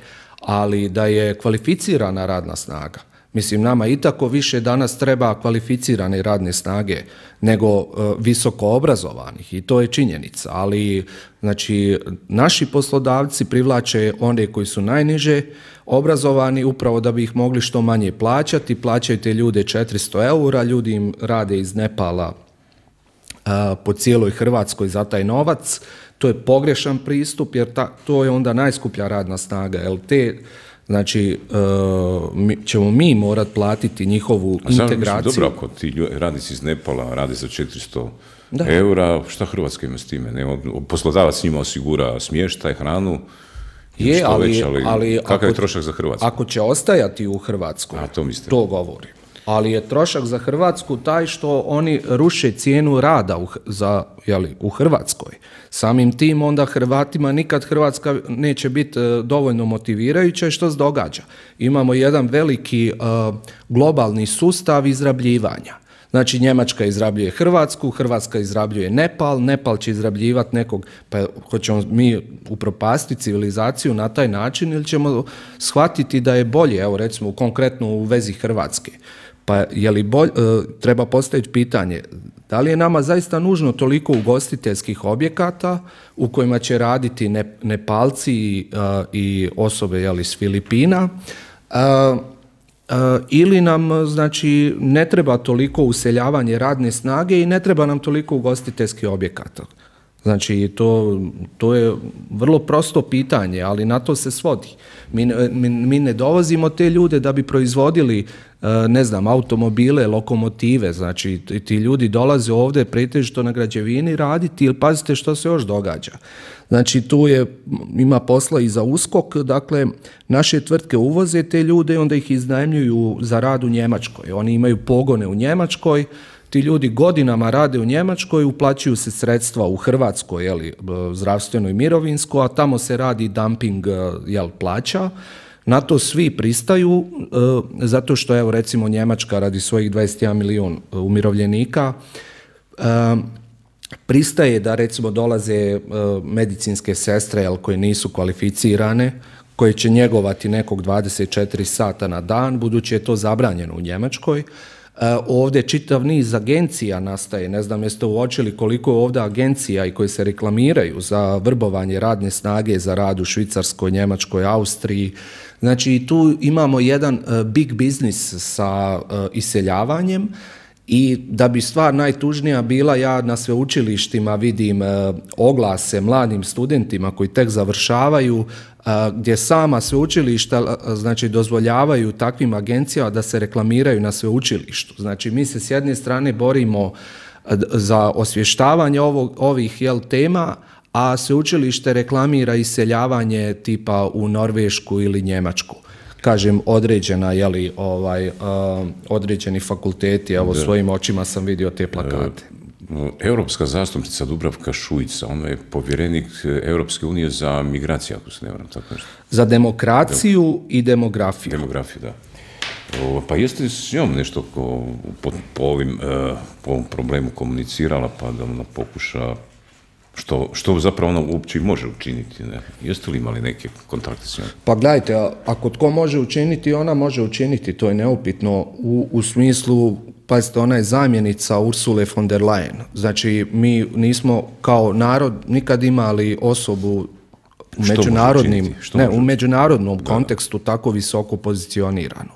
ali da je kvalificirana radna snaga. Mislim, nama i tako više danas treba kvalificirane radne snage nego uh, visoko obrazovanih i to je činjenica, ali znači, naši poslodavci privlače one koji su najniže obrazovani upravo da bi ih mogli što manje plaćati, plaćaju te ljude četiristo eura, ljudi im rade iz Nepala uh, po cijeloj Hrvatskoj za taj novac, to je pogrešan pristup jer ta, to je onda najskuplja radna snaga, jer te znači, uh, mi, ćemo mi morat platiti njihovu A integraciju. Dobro, ako ti radnici iz Nepala rade za četiristo da. eura, šta Hrvatska ima s time? Ne? Poslodavac njima osigura smještaj, hranu, je, ali, već, ali, ali kakav ako, je trošak za Hrvatsku? Ako će ostajati u Hrvatskoj, A, to, to govori. Ali je trošak za Hrvatsku taj što oni ruše cijenu rada u, za, jeli, u Hrvatskoj. Samim tim onda Hrvatima nikad Hrvatska neće biti uh, dovoljno motivirajuća i što se događa. Imamo jedan veliki uh, globalni sustav izrabljivanja. Znači Njemačka izrabljuje Hrvatsku, Hrvatska izrabljuje Nepal, Nepal će izrabljivati nekog, pa hoćemo mi upropastiti civilizaciju na taj način ili ćemo shvatiti da je bolje, evo recimo konkretno u vezi Hrvatske. Pa je li bolj, treba postaviti pitanje, da li je nama zaista nužno toliko ugostiteljskih objekata u kojima će raditi ne, Nepalci i, i osobe jeli, s Filipina, a, a, ili nam znači, ne treba toliko useljavanje radne snage i ne treba nam toliko ugostiteljskih objekata. Znači, to, to je vrlo prosto pitanje, ali na to se svodi. Mi, mi, mi ne dovozimo te ljude da bi proizvodili, ne znam, automobile, lokomotive. Znači, ti ljudi dolaze ovdje pretežito na građevini raditi, ili pazite što se još događa. Znači, tu je, ima posla i za uskok, dakle, naše tvrtke uvoze te ljude i onda ih iznajmljuju za rad u Njemačkoj. Oni imaju pogone u Njemačkoj, ti ljudi godinama rade u Njemačkoj, uplaćuju se sredstva u Hrvatskoj, jeli, zdravstveno i mirovinsko, a tamo se radi dumping jel, plaća. Na to svi pristaju, e, zato što, evo, recimo, Njemačka radi svojih dvadeset jedan milijun umirovljenika, e, pristaje da, recimo, dolaze e, medicinske sestre, jel, koje nisu kvalificirane, koje će njegovati nekog dvadeset četiri sata na dan, budući je to zabranjeno u Njemačkoj. Ovdje čitav niz agencija nastaje, ne znam jeste uočili koliko je ovdje agencija i koji se reklamiraju za vrbovanje radne snage za rad u Švicarskoj, Njemačkoj, Austriji. Znači tu imamo jedan big biznis sa iseljavanjem i da bi stvar najtužnija bila, ja na sveučilištima vidim oglase mladim studentima koji tek završavaju, gdje sama sveučilišta znači, dozvoljavaju takvim agencijama da se reklamiraju na sveučilištu. Znači mi se s jedne strane borimo za osvještavanje ovog, ovih jel, tema, a sveučilište reklamira iseljavanje tipa u Norvešku ili Njemačku. Kažem, određena, jeli, ovaj, uh, određeni fakulteti, evo svojim očima sam vidio te plakate. Europska zastupnica Dubravka Šuica, ona je povjerenik Europske unije za migracije, ako se ne varam, tako nešto. Za demokraciju Dem- i demografiju. Demografiju, da. O, pa jeste s njom nešto ko, po, po, ovim, uh, po ovom problemu komunicirala, pa da ona pokuša Što, što zapravo ona uopće može učiniti, ne? Jeste li imali neke kontakte s njom? Pa gledajte, ako tko može učiniti, ona može učiniti, to je neupitno u, u smislu, pazite, ona je zamjenica Ursule von der Leyen. Znači, mi nismo kao narod nikad imali osobu u međunarodnim, ne, u međunarodnom da. kontekstu tako visoko pozicioniranu.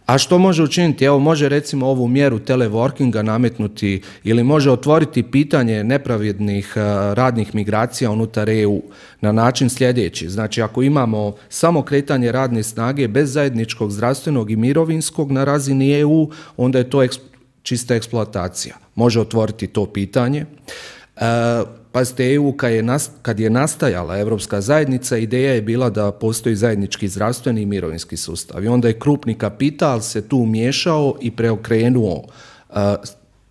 A što može učiniti? Evo, može recimo ovu mjeru teleworkinga nametnuti ili može otvoriti pitanje nepravednih radnih migracija unutar E U na način sljedeći. Znači, ako imamo samo kretanje radne snage bez zajedničkog zdravstvenog i mirovinskog na razini E U, onda je to eks- čista eksploatacija. Može otvoriti to pitanje. E, Pazite, E U kad je, nast, kad je nastajala Europska zajednica, ideja je bila da postoji zajednički zdravstveni i mirovinski sustav. I onda je krupni kapital se tu umiješao i preokrenuo uh,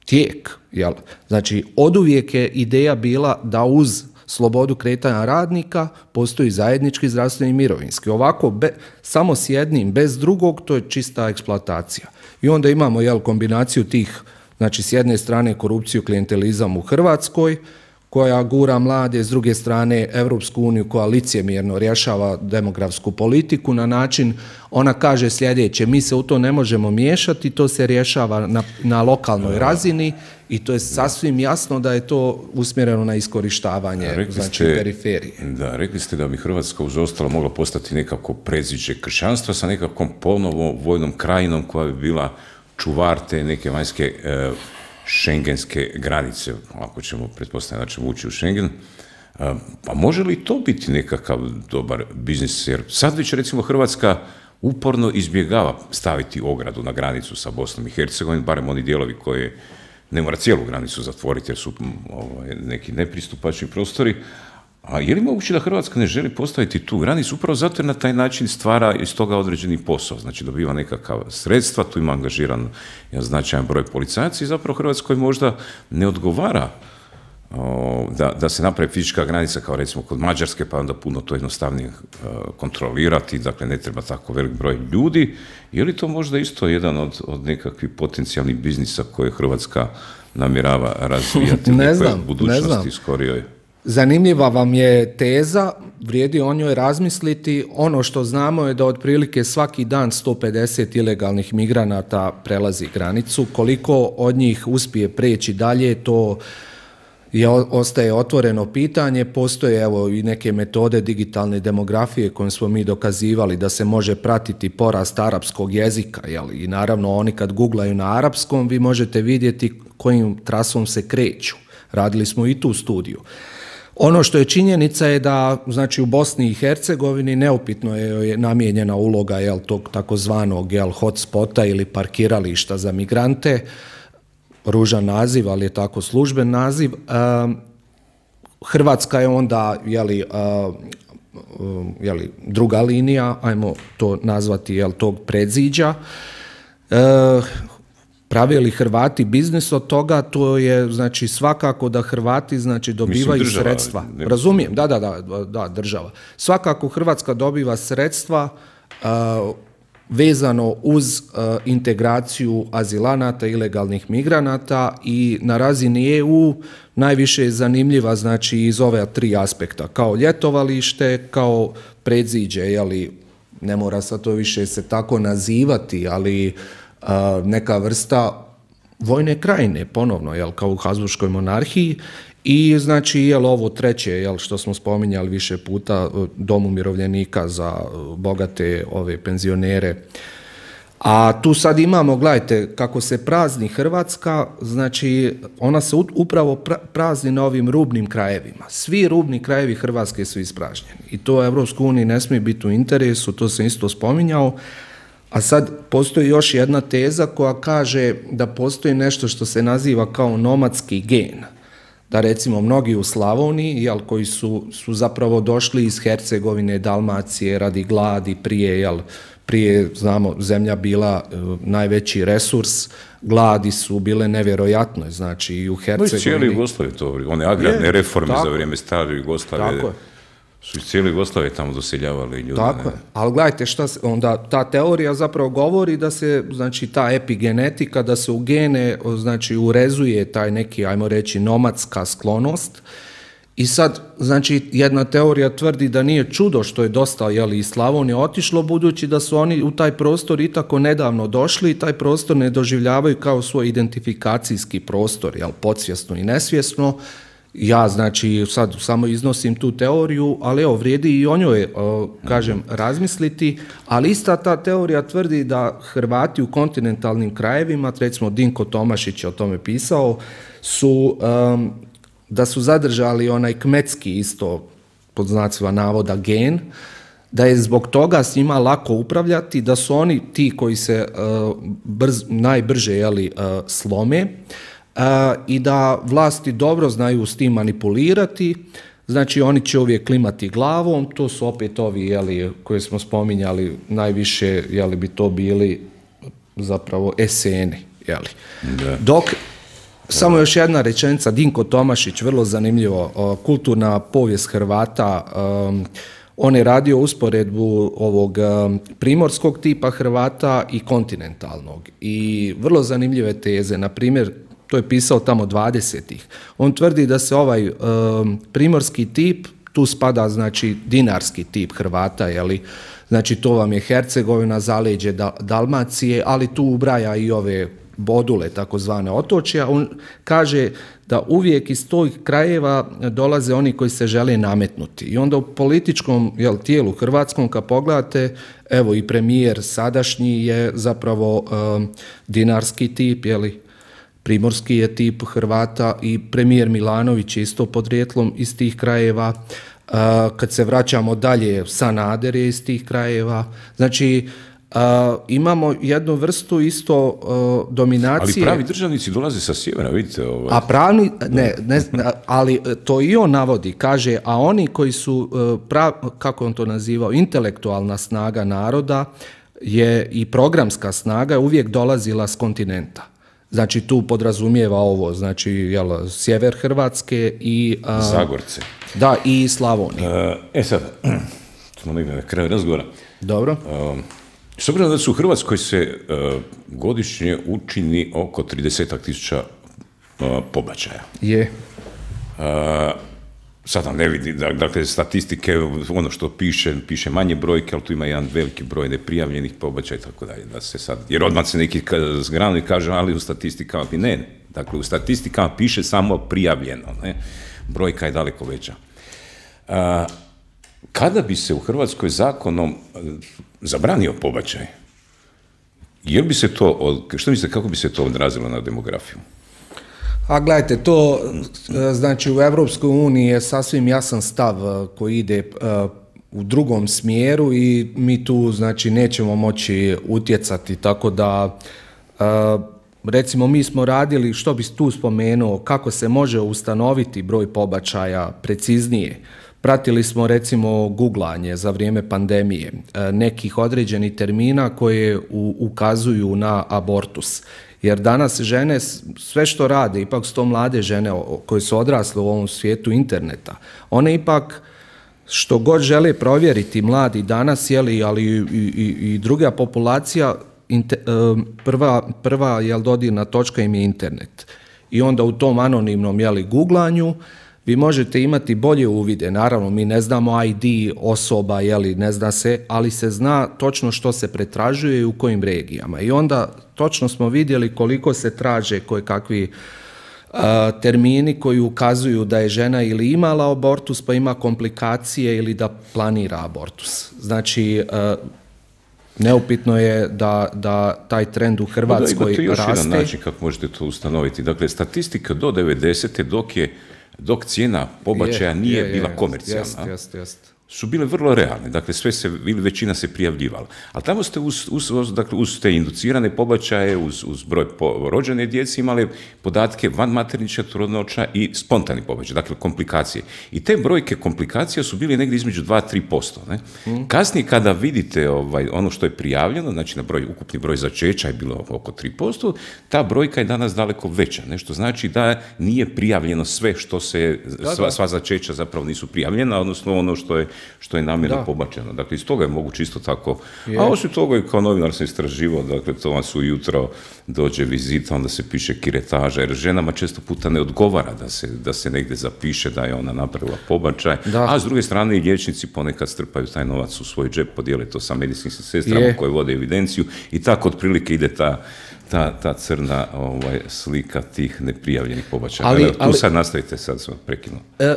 tijek. Jel? Znači, oduvijek je ideja bila da uz slobodu kretanja radnika, postoji zajednički zdravstveni i mirovinski. Ovako, be, samo s jednim, bez drugog, to je čista eksploatacija. I onda imamo jel, kombinaciju tih, znači s jedne strane korupciju, klijentelizam u Hrvatskoj, koja gura mlade, s druge strane Europsku uniju koja licemjerno rješava demografsku politiku na način, ona kaže sljedeće, mi se u to ne možemo miješati, to se rješava na, na lokalnoj razini i to je sasvim jasno da je to usmjereno na iskorištavanje, rekli znači ste, periferije. Da, rekli ste da bi Hrvatska uz ostalo mogla postati nekako predziđe kršćanstva sa nekakvom ponovo vojnom krajinom koja bi bila čuvar te neke vanjske e, šengenske granice, ako ćemo pretpostaviti da ćemo ući u Schengen. Pa može li to biti nekakav dobar biznis? Jer sad već recimo Hrvatska uporno izbjegava staviti ogradu na granicu sa Bosnom i Hercegovinom, barem oni dijelovi koje ne mora cijelu granicu zatvoriti jer su ovaj, neki nepristupačni prostori. A je li moguće da Hrvatska ne želi postaviti tu granicu upravo zato jer na taj način stvara iz toga određeni posao, znači dobiva nekakav sredstva, tu ima angažiran jedan značajan broj policajaca i zapravo Hrvatskoj možda ne odgovara o, da, da se napravi fizička granica kao recimo kod Mađarske, pa onda puno to jednostavnije o, kontrolirati, dakle ne treba tako velik broj ljudi. Je li to možda isto jedan od, od nekakvih potencijalnih biznisa koje Hrvatska namjerava razvijati u nekoj budućnosti skorijoj? Zanimljiva vam je teza, vrijedi o njoj razmisliti. Ono što znamo je da otprilike svaki dan sto pedeset ilegalnih migranata prelazi granicu. Koliko od njih uspije preći dalje, to je, ostaje otvoreno pitanje. Postoje evo i neke metode digitalne demografije kojim smo mi dokazivali da se može pratiti porast arapskog jezika. Jel? I naravno oni kad googlaju na arapskom vi možete vidjeti kojim trasom se kreću. Radili smo i tu studiju. Ono što je činjenica je da znači u Bosni i Hercegovini neupitno je namijenjena uloga jel, tog takozvanog jel, hotspota ili parkirališta za migrante, ružan naziv, ali je tako služben naziv. Um, Hrvatska je onda jeli, uh, um, jeli, druga linija, ajmo to nazvati jel, tog predziđa. Uh, Prave li Hrvati biznis od toga, to je znači svakako da Hrvati znači dobivaju Mislim, država, sredstva. Ne... Razumijem, da, da, da, da, država. Svakako Hrvatska dobiva sredstva uh, vezano uz uh, integraciju azilanata, ilegalnih migranata i na razini E U najviše je zanimljiva znači iz ove tri aspekta, kao ljetovalište, kao predziđe, jeli, ne mora sad to više se tako nazivati, ali Uh, neka vrsta vojne krajine, ponovno, jel, kao u Habsburškoj monarhiji i znači, jel, ovo treće, jel, što smo spominjali više puta, dom umirovljenika za bogate ove penzionere. A tu sad imamo, gledajte, kako se prazni Hrvatska, znači ona se upravo prazni na ovim rubnim krajevima. Svi rubni krajevi Hrvatske su ispražnjeni i to Europskoj uniji ne smije biti u interesu, to sam isto spominjao. A sad postoji još jedna teza koja kaže da postoji nešto što se naziva kao nomadski gen. Da recimo mnogi u Slavoniji, jel, koji su, su zapravo došli iz Hercegovine, Dalmacije radi gladi, prije, jel, prije znamo, zemlja bila e, najveći resurs, gladi su bile nevjerojatno, znači i u Hercegovini. No, cijeli Jugoslavije to, one agrarne je, reforme tako, za vrijeme stare Jugoslavije. Tako je. Su iz cijele Jugoslavije tamo doseljavali ljudi. Tako je, ali gledajte šta se, onda ta teorija zapravo govori da se, znači ta epigenetika, da se u gene, znači urezuje taj neki, ajmo reći, nomadska sklonost i sad, znači jedna teorija tvrdi da nije čudo što je dosta, jeli, iz Slavonije otišlo, budući da su oni u taj prostor i tako nedavno došli i taj prostor ne doživljavaju kao svoj identifikacijski prostor, jel, podsvjesno i nesvjesno. Ja, znači, sad samo iznosim tu teoriju, ali evo, vrijedi i o njoj, kažem, razmisliti, ali ista ta teorija tvrdi da Hrvati u kontinentalnim krajevima, recimo Dinko Tomašić je o tome pisao, su, um, da su zadržali onaj kmetski isto, pod znacima navoda, gen, da je zbog toga s njima lako upravljati, da su oni ti koji se uh, brz, najbrže jeli, uh, slome, Uh, i da vlasti dobro znaju s tim manipulirati, znači oni će uvijek klimati glavom, to su opet ovi, jeli, koje smo spominjali, najviše, jeli, bi to bili zapravo eseni, jeli. Da. Dok Samo još jedna rečenica, Dinko Tomašić, vrlo zanimljivo, kulturna povijest Hrvata, on je radio usporedbu ovog primorskog tipa Hrvata i kontinentalnog i vrlo zanimljive teze, na primjer, to je pisao tamo dvadesetih. On tvrdi da se ovaj um, primorski tip, tu spada znači dinarski tip Hrvata, jeli, znači to vam je Hercegovina, zaleđe Dalmacije, ali tu ubraja i ove bodule, takozvane otočja. On kaže da uvijek iz tih krajeva dolaze oni koji se žele nametnuti. I onda u političkom jel, tijelu hrvatskom, kad pogledate, evo i premijer sadašnji je zapravo um, dinarski tip, jeli, primorski je tip Hrvata i premijer Milanović je isto podrijetlom iz tih krajeva. Uh, kad se vraćamo dalje, Sanader je iz tih krajeva. Znači, uh, imamo jednu vrstu isto uh, dominacije. Ali pravi državnici dolaze sa sjevera, vidite. Ovaj. A pravni, ne, ne, ali to i on navodi, kaže, a oni koji su, uh, prav, kako on to nazivao, intelektualna snaga naroda je i programska snaga je uvijek dolazila s kontinenta. Znači tu podrazumijeva ovo, znači jel, sjever Hrvatske i... A, Zagorce. Da, i Slavonije. E sad, smo negdje na kraju razgovora. Dobro. S obzirom da su u Hrvatskoj se uh, godišnje učini oko trideset tisuća uh, pobačaja. Je. Uh, Sada ne vidi, dakle, statistike, ono što piše, piše manje brojke, ali tu ima jedan veliki broj neprijavljenih pobačaja i tako dalje, da se sad, jer odmah se neki zgranu i kaže, ali u statistikama, ne, ne, dakle, u statistikama piše samo prijavljeno, ne, brojka je daleko veća. A, kada bi se u Hrvatskoj zakonom zabranio pobačaj, jer bi se to, što mislite, kako bi se to odrazilo na demografiju? A gledajte, to znači u Europskoj uniji je sasvim jasan stav koji ide u drugom smjeru i mi tu znači nećemo moći utjecati, tako da recimo mi smo radili, što bi tu spomenuo, kako se može ustanoviti broj pobačaja preciznije. Pratili smo recimo guglanje za vrijeme pandemije nekih određenih termina koje ukazuju na abortus. Jer danas žene, sve što rade, ipak su to mlade žene koje su odrasle u ovom svijetu interneta, one ipak što god žele provjeriti mladi danas, jeli, ali i, i, i druga populacija, inter, prva, prva jel, dodirna točka im je internet. I onda u tom anonimnom jeli, googlanju vi možete imati bolje uvide. Naravno, mi ne znamo I D osoba, jeli, ne zna se, ali se zna točno što se pretražuje i u kojim regijama. I onda točno smo vidjeli koliko se traže koje kakvi uh, termini koji ukazuju da je žena ili imala abortus, pa ima komplikacije ili da planira abortus. Znači, uh, neupitno je da, da taj trend u Hrvatskoj raste. Da, imate još jedan način kako možete to ustanoviti. Dakle, statistika do devedesete dok je dok cijena pobačaja je, nije je, bila je, komercijalna, jest, jest. su bile vrlo realne. Dakle, sve se, većina se prijavljivala. Ali tamo ste uz, uz, uz, dakle, uz te inducirane pobačaje, uz, uz broj po, rođene djece imali podatke vanmaternične trudnoća i spontani pobačaj, dakle komplikacije. I te brojke komplikacija su bile negdje između dva do tri posto. Ne? Mm. Kasnije kada vidite ovaj, ono što je prijavljeno, znači na broj, ukupni broj začeća je bilo oko tri posto, ta brojka je danas daleko veća. Nešto znači da nije prijavljeno sve što se, da, sva, sva začeća zapravo nisu prijavljena, odnosno ono što je što je namjerno pobačeno. Dakle, iz toga je moguće isto tako. Je. A osim toga i kao novinar sam istraživao, dakle, to vam su ujutro dođe vizita, onda se piše kiretaža, jer ženama često puta ne odgovara da se, da se negdje zapiše da je ona napravila pobačaj, da. A s druge strane i liječnici ponekad strpaju taj novac u svoj džep, podijele to sa medicinskim sestrama je. Koje vode evidenciju i tako otprilike ide ta Ta, ta crna ovaj, slika tih neprijavljenih pobačaja. Ali, tu ali, sad nastavite, sad sam prekinuo. E,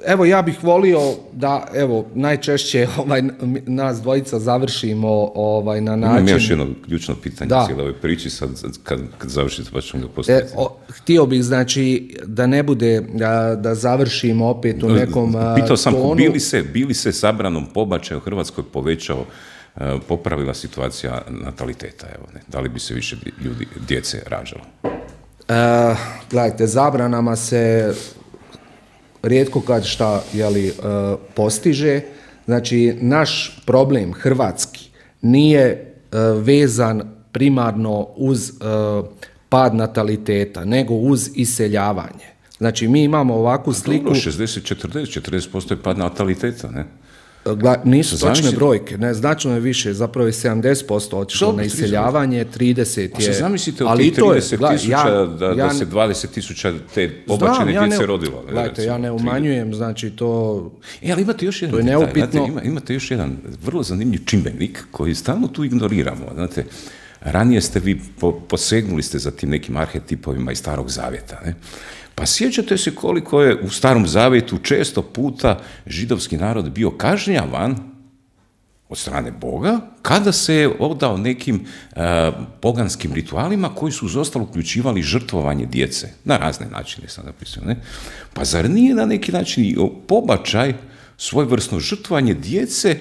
Evo, ja bih volio da, evo, najčešće ovaj, nas dvojica završimo ovaj, na način... Imam još jedno ključno pitanje cijele ove priči, sad kad, kad završite pa ćemo ga postaviti. E, o, htio bih, znači, da ne bude, da, da završimo opet u nekom Pitao sam, tonu. bili se, bili se zabranom pobačaja u Hrvatskoj povećao, popravila situacija nataliteta, evo, ne? Da li bi se više ljudi, djece rađalo? E, gledajte, zabranama se... rijetko kad šta jeli, uh, postiže. Znači, naš problem hrvatski nije uh, vezan primarno uz uh, pad nataliteta, nego uz iseljavanje. Znači, mi imamo ovakvu sliku... Dobro, šezdeset četrdeset, četrdeset posto je pad nataliteta, ne? Nisu točne brojke, ne, značno je više, zapravo je sedamdeset posto otišlo na iseljavanje, trideset je... A zamislite od tih trideset tisuća da, da se dvadeset tisuća te pobačene ja djece ne, rodilo. Gledajte, ja ne umanjujem, znači to... E, ali imate još jedan detalj, znate, ima, imate još jedan vrlo zanimljiv čimbenik koji stalno tu ignoriramo, znate. Ranije ste vi, po, posegnuli ste za tim nekim arhetipovima iz Starog Zavjeta, ne? Pa sjećate se koliko je u Starom Zavjetu često puta židovski narod bio kažnjavan od strane Boga kada se je odao nekim uh, poganskim ritualima koji su uz ostalo uključivali žrtvovanje djece. Na razne načine sam napisao, ne? Pa zar nije na neki način pobačaj, svojevrsno žrtvovanje djece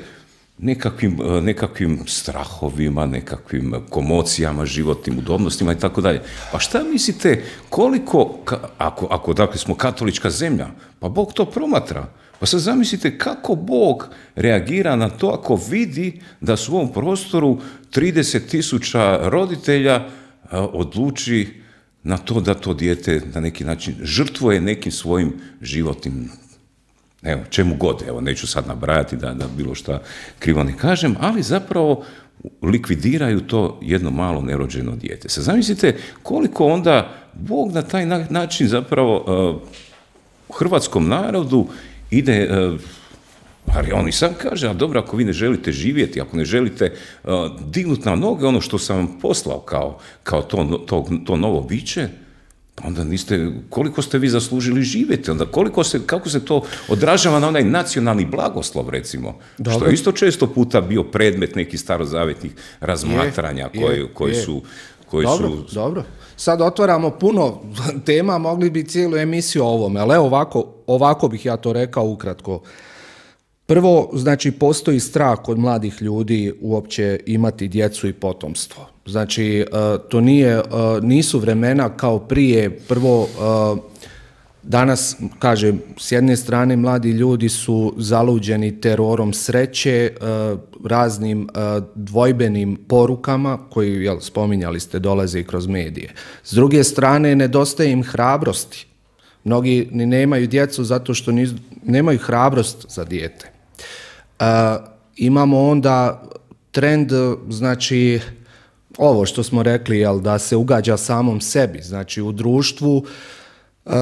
nekakvim, nekakvim strahovima, nekakvim komocijama, životnim udobnostima i tako dalje. Pa šta mislite, koliko, ako, ako dakle smo katolička zemlja, pa Bog to promatra. Pa sad zamislite kako Bog reagira na to ako vidi da su u ovom prostoru trideset tisuća roditelja odluči na to da to dijete na neki način žrtvuje nekim svojim životnim, evo, čemu god, evo, neću sad nabrajati da, da bilo šta krivo ne kažem, ali zapravo likvidiraju to jedno malo nerođeno dijete. Sad zamislite koliko onda Bog na taj način zapravo uh, hrvatskom narodu ide, uh, ali on i sam kaže, a dobro, ako vi ne želite živjeti, ako ne želite uh, dignuti na noge ono što sam vam poslao kao, kao to, to, to novo biće, onda niste, koliko ste vi zaslužili živjeti, onda koliko se, kako se to odražava na onaj nacionalni blagoslov, recimo, dobro, što je isto često puta bio predmet nekih starozavjetnih razmatranja je, koji, je, koji je. su... Koji dobro, su... dobro. Sad otvaramo puno tema, mogli bi cijelu emisiju o ovome, ali ovako, ovako bih ja to rekao ukratko. Prvo, znači, postoji strah kod mladih ljudi uopće imati djecu i potomstvo. Znači, to nije, nisu vremena kao prije. Prvo, danas, kažem, s jedne strane mladi ljudi su zaluđeni terorom sreće, raznim dvojbenim porukama, koji, jel, spominjali ste, dolaze i kroz medije. S druge strane, nedostaje im hrabrosti. Mnogi ni nemaju djecu zato što niz, nemaju hrabrost za dijete. Uh, imamo onda trend, znači, ovo što smo rekli, jel, da se ugađa samom sebi. Znači, u društvu uh,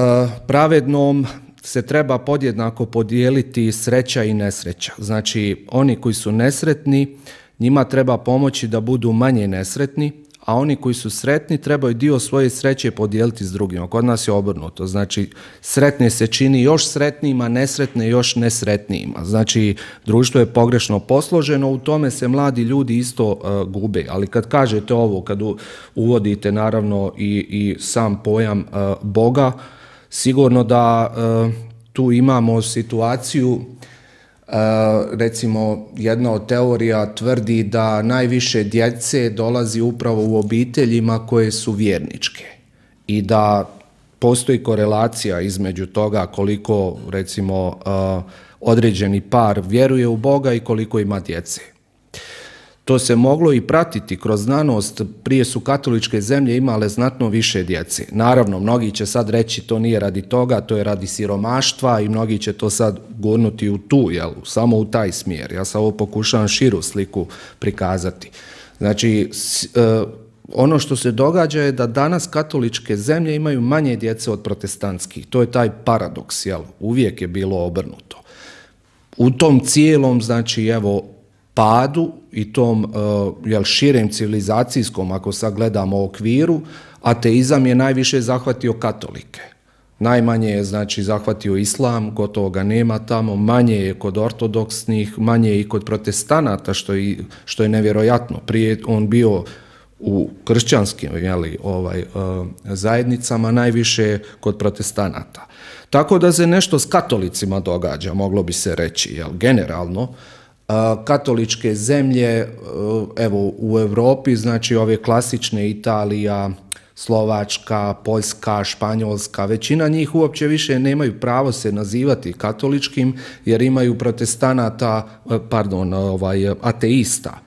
pravednom se treba podjednako podijeliti sreća i nesreća. Znači, oni koji su nesretni, njima treba pomoći da budu manje nesretni, a oni koji su sretni trebaju dio svoje sreće podijeliti s drugima. Kod nas je obrnuto. Znači, sretne se čini još sretnijima, nesretne još nesretnijima. Znači, društvo je pogrešno posloženo, u tome se mladi ljudi isto uh, gube. Ali kad kažete ovo, kad uvodite naravno i, i sam pojam uh, Boga, sigurno da uh, tu imamo situaciju. Uh, recimo, jedna od teorija tvrdi da najviše djece dolazi upravo u obiteljima koje su vjerničke i da postoji korelacija između toga koliko, recimo, uh, određeni par vjeruje u Boga i koliko ima djece. To se moglo i pratiti kroz znanost, prije su katoličke zemlje imale znatno više djece. Naravno, mnogi će sad reći to nije radi toga, to je radi siromaštva i mnogi će to sad gurnuti u tu, jel, samo u taj smjer. Ja sad ovo pokušavam širu sliku prikazati. Znači, ono što se događa je da danas katoličke zemlje imaju manje djece od protestantskih. To je taj paradoks, jel, uvijek je bilo obrnuto. U tom cijelom, znači, evo, padu i tom uh, jel, širem civilizacijskom, ako sad gledamo okviru, ateizam je najviše zahvatio katolike. Najmanje je, znači, zahvatio islam, gotovo ga nema tamo, manje je kod ortodoksnih, manje je i kod protestanata, što je, što je nevjerojatno. Prije on bio u kršćanskim, jeli, ovaj, uh, zajednicama, najviše kod protestanata. Tako da se nešto s katolicima događa, moglo bi se reći, jel, generalno. Katoličke zemlje, evo, u Europi, znači ove klasične Italija, Slovačka, Poljska, Španjolska, većina njih uopće više nemaju pravo se nazivati katoličkim jer imaju protestanata, pardon, ovaj, ateista,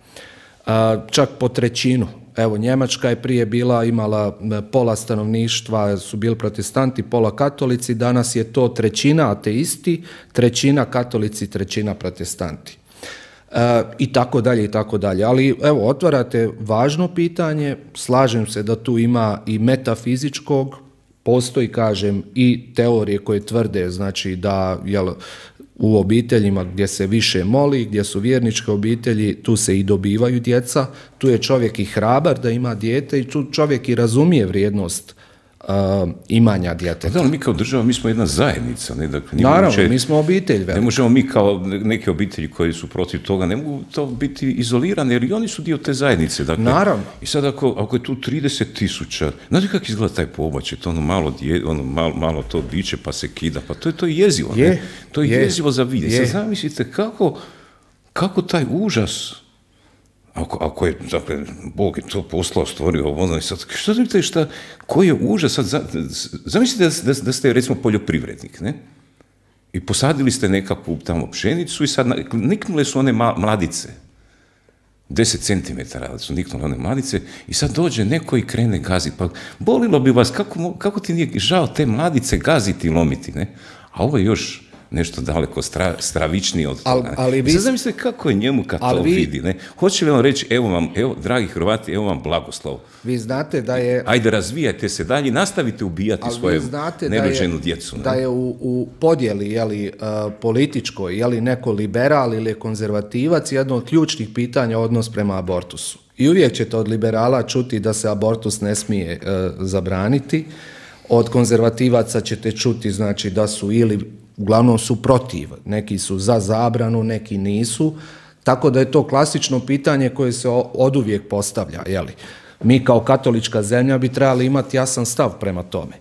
čak po trećinu. Evo, Njemačka je prije bila, imala pola stanovništva su bili protestanti, pola katolici, danas je to trećina ateisti, trećina katolici, trećina protestanti. E, I tako dalje, i tako dalje. Ali evo, otvarate važno pitanje, slažem se da tu ima i metafizičkog, postoji, kažem, i teorije koje tvrde, znači da, jel, u obiteljima gdje se više moli, gdje su vjerničke obitelji, tu se i dobivaju djeca, tu je čovjek i hrabar da ima dijete i tu čovjek i razumije vrijednost uh, imanja djeteta. Da, ali mi kao država, mi smo jedna zajednica. Ne? Dakle, Naravno, moguće, mi smo obitelj. Ne možemo mi kao neke obitelji koji su protiv toga, ne mogu to biti izolirane, jer i oni su dio te zajednice. Dakle, Naravno. I sad ako, ako je tu trideset tisuća, znate kako izgleda taj pobačaj, to ono malo, dje, ono malo, malo to biće pa se kida, pa to je, to je jezivo. Je, ne? To je, je jezivo za vidjeti. Je. Sad zamislite kako, kako taj užas, Ako, ako je, dakle, Bog je to poslao, stvorio ono, i sad, što znate šta, koji je užas, sad, zamislite da, da, da ste, recimo, poljoprivrednik, ne? I posadili ste nekakvu tamo pšenicu i sad niknule su one mladice, deset centimetara su niknule one mladice i sad dođe neko i krene gaziti, pa bolilo bi vas, kako, kako ti nije žao te mladice gaziti i lomiti, ne? A ovo je još nešto daleko stra, stravičnije od toga. Al, ali vi... Sad zamislite kako je njemu kad to vi... vidi. Ne? Hoće li vam reći, evo vam, evo, dragi Hrvati, evo vam blagoslov. Vi znate da je... Ajde, razvijajte se dalje, nastavite ubijati svoju nerođenu djecu. Da je u, u podjeli, jeli, uh, političkoj, jeli neko liberal ili konzervativac, jedno od ključnih pitanja odnos prema abortusu. I uvijek ćete od liberala čuti da se abortus ne smije uh, zabraniti. Od konzervativaca ćete čuti, znači, da su ili uglavnom su protiv, neki su za zabranu, neki nisu, tako da je to klasično pitanje koje se oduvijek postavlja. Jeli? Mi kao katolička zemlja bi trebali imati jasan stav prema tome.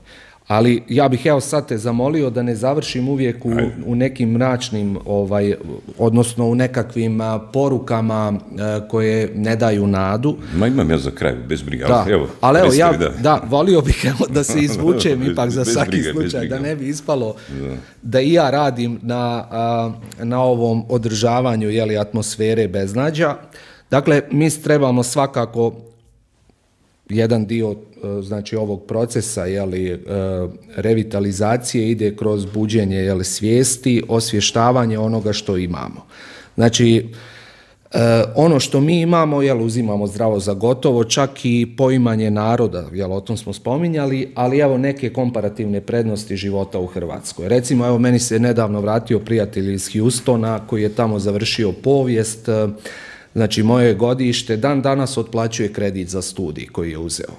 Ali ja bih evo sad te zamolio da ne završim uvijek u, u nekim mračnim, ovaj, odnosno u nekakvim a, porukama a, koje ne daju nadu. Ma imam ja za kraj, bez briga. Da, evo, ali evo, ja da. da, volio bih evo, da se izvučem ipak za svaki slučaj, da ne bi ispalo da, da i ja radim na, a, na ovom održavanju, jeli, atmosfere beznađa. Dakle, mi trebamo svakako jedan dio, znači, ovog procesa, jeli, revitalizacije ide kroz buđenje, jeli, svijesti, osvještavanje onoga što imamo. Znači, ono što mi imamo, jel, uzimamo zdravo za gotovo, čak i poimanje naroda, jel, o tom smo spominjali, ali evo neke komparativne prednosti života u Hrvatskoj. Recimo, evo, meni se nedavno vratio prijatelj iz Houstona koji je tamo završio povijest. Znači, moje godište dan danas otplaćuje kredit za studij koji je uzeo.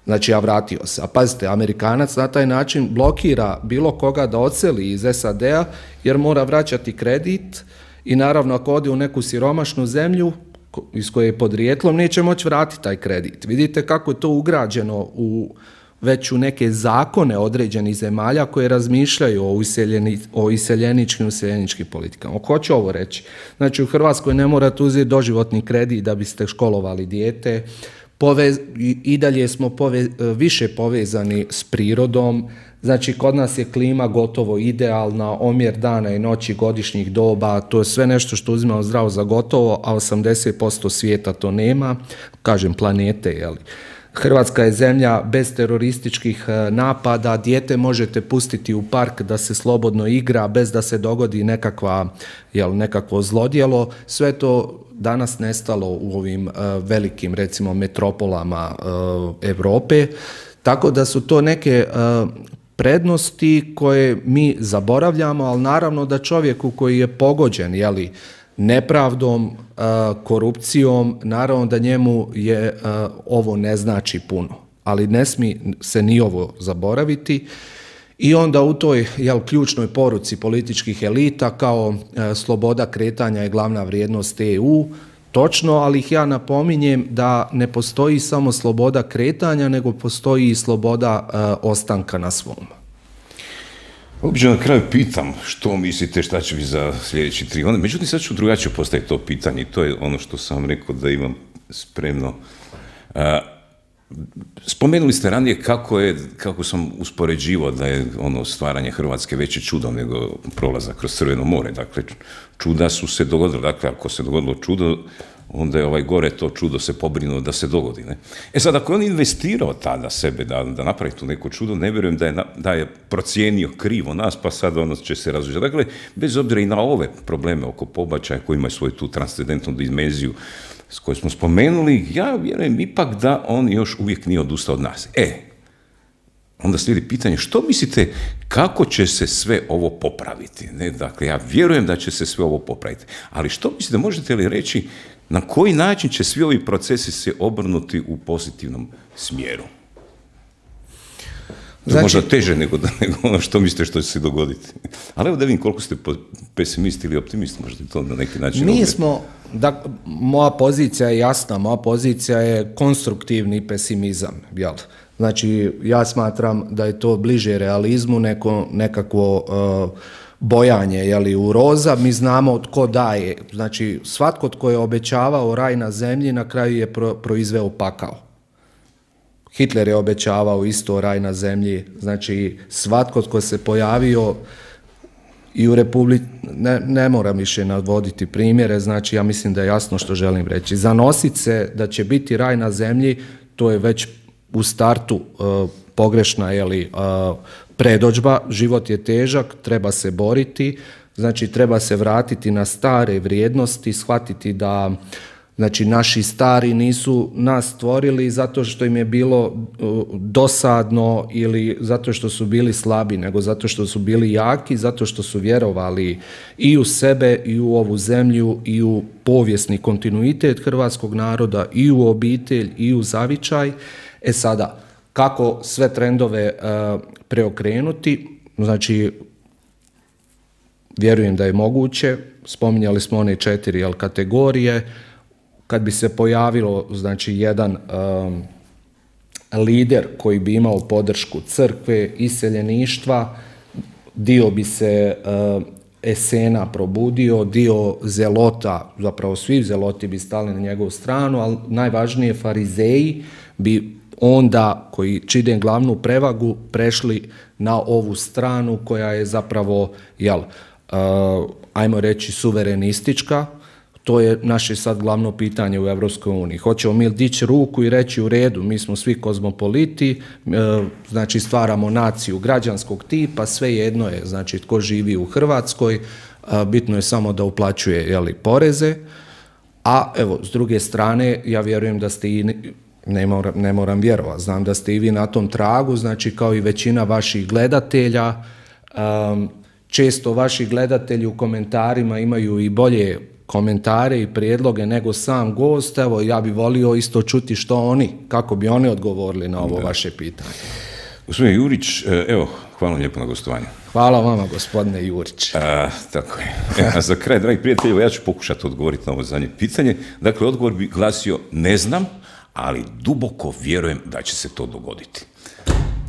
Znači, ja vratio se. A pazite, Amerikanac na taj način blokira bilo koga da odseli iz S A D-a jer mora vraćati kredit i naravno ako ode u neku siromašnu zemlju iz koje je podrijetlom neće moći vratiti taj kredit. Vidite kako je to ugrađeno u već u neke zakone određenih zemalja koje razmišljaju o, iseljeni, o iseljeničkim useljeničkim politikama. Hoću ovo reći. Znači, u Hrvatskoj ne morate uzeti doživotni kredit da biste školovali dijete. Povez, I dalje smo pove, više povezani s prirodom. Znači, kod nas je klima gotovo idealna, omjer dana i noći, godišnjih doba, to je sve nešto što uzimamo zdravo za gotovo, a osamdeset posto svijeta to nema, kažem planete, jeli. Hrvatska je zemlja bez terorističkih napada, dijete možete pustiti u park da se slobodno igra bez da se dogodi nekakva, jel, nekakvo zlodjelo. Sve to danas nestalo u ovim uh, velikim, recimo, metropolama uh, Europe. Tako da su to neke uh, prednosti koje mi zaboravljamo, ali naravno da čovjeku koji je pogođen, jeli, nepravdom, korupcijom, naravno da njemu je ovo ne znači puno, ali ne smije se ni ovo zaboraviti. I onda u toj, jel, ključnoj poruci političkih elita kao sloboda kretanja je glavna vrijednost E U, točno, ali ih ja napominjem da ne postoji samo sloboda kretanja, nego postoji i sloboda ostanka na svom. Obično na kraju pitam što mislite šta će vi za sljedeći tri godine, međutim sad ću drugačije postaviti to pitanje i to je ono što sam rekao da imam spremno. A, spomenuli ste ranije kako, je, kako sam uspoređivao da je ono stvaranje Hrvatske veće čudo nego prolazak kroz Crveno more, dakle čuda su se dogodila, dakle ako se dogodilo čudo, onda je ovaj gore to čudo se pobrinuo da se dogodi. Ne? E sad, ako je on investirao tada sebe da, da napravi tu neko čudo, ne vjerujem da je, da je procijenio krivo nas, pa sad ono će se različiti. Dakle, bez obzira i na ove probleme oko pobačaja koji imaju svoju tu transcendentnu dimenziju s kojoj smo spomenuli, ja vjerujem ipak da on još uvijek nije odustao od nas. E, onda slijedi pitanje, što mislite kako će se sve ovo popraviti? Ne? Dakle, ja vjerujem da će se sve ovo popraviti. Ali što mislite, možete li reći na koji način će svi ovi procesi se obrnuti u pozitivnom smjeru? Znači, možda teže nego, nego ono što mislite što će se dogoditi. Ali evo da vidim koliko ste pesimist ili optimist, možete to na neki način... Mi smo, da, moja pozicija je jasna, moja pozicija je konstruktivni pesimizam, jel? Znači, ja smatram da je to bliže realizmu, neko, nekakvo uh, bojanje, jeli, u roza. Mi znamo tko daje. Znači, svatko tko je obećavao raj na zemlji, na kraju je pro, proizveo pakao. Hitler je obećavao isto raj na zemlji. Znači, svatko tko se pojavio i u Republici, ne, ne moram više navoditi primjere, znači ja mislim da je jasno što želim reći. Zanosit se da će biti raj na zemlji, to je već u startu uh, pogrešna, jeli, uh, predodžba. Život je težak, treba se boriti, znači treba se vratiti na stare vrijednosti, shvatiti da, znači, naši stari nisu nas stvorili zato što im je bilo uh, dosadno ili zato što su bili slabi, nego zato što su bili jaki, zato što su vjerovali i u sebe i u ovu zemlju i u povijesni kontinuitet hrvatskog naroda i u obitelj i u zavičaj. E sada, kako sve trendove uh, preokrenuti? Znači, vjerujem da je moguće. Spominjali smo one četiri jel, kategorije. Kad bi se pojavilo, znači, jedan um, lider koji bi imao podršku crkve, iseljeništva, dio bi se uh, esena probudio, dio zelota, zapravo svi zeloti bi stali na njegovu stranu, ali najvažnije farizeji bi onda, koji čine glavnu prevagu, prešli na ovu stranu koja je zapravo, jel, uh, ajmo reći, suverenistička. To je naše sad glavno pitanje u Europskoj uniji. Hoćemo mi dići ruku i reći u redu, mi smo svi kozmopoliti, uh, znači stvaramo naciju građanskog tipa, sve jedno je, znači tko živi u Hrvatskoj, uh, bitno je samo da uplaćuje, jeli, poreze, a evo, s druge strane, ja vjerujem da ste i... Ne moram, ne moram vjerovati, znam da ste i vi na tom tragu, znači kao i većina vaših gledatelja. Um, često vaši gledatelji u komentarima imaju i bolje komentare i prijedloge nego sam gost. Evo, ja bi volio isto čuti što oni, kako bi oni odgovorili na ovo da. vaše pitanje. Gospodine Jurić, evo, hvala vam lijepo na gostovanju. Hvala vama, gospodine Jurić. A, tako je. E, a za kraj, dragi prijatelji, ja ću pokušati odgovoriti na ovo zadnje pitanje. Dakle, odgovor bi glasio ne znam, ali duboko vjerujem da će se to dogoditi.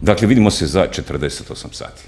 Dakle, vidimo se za četrdeset osam sati.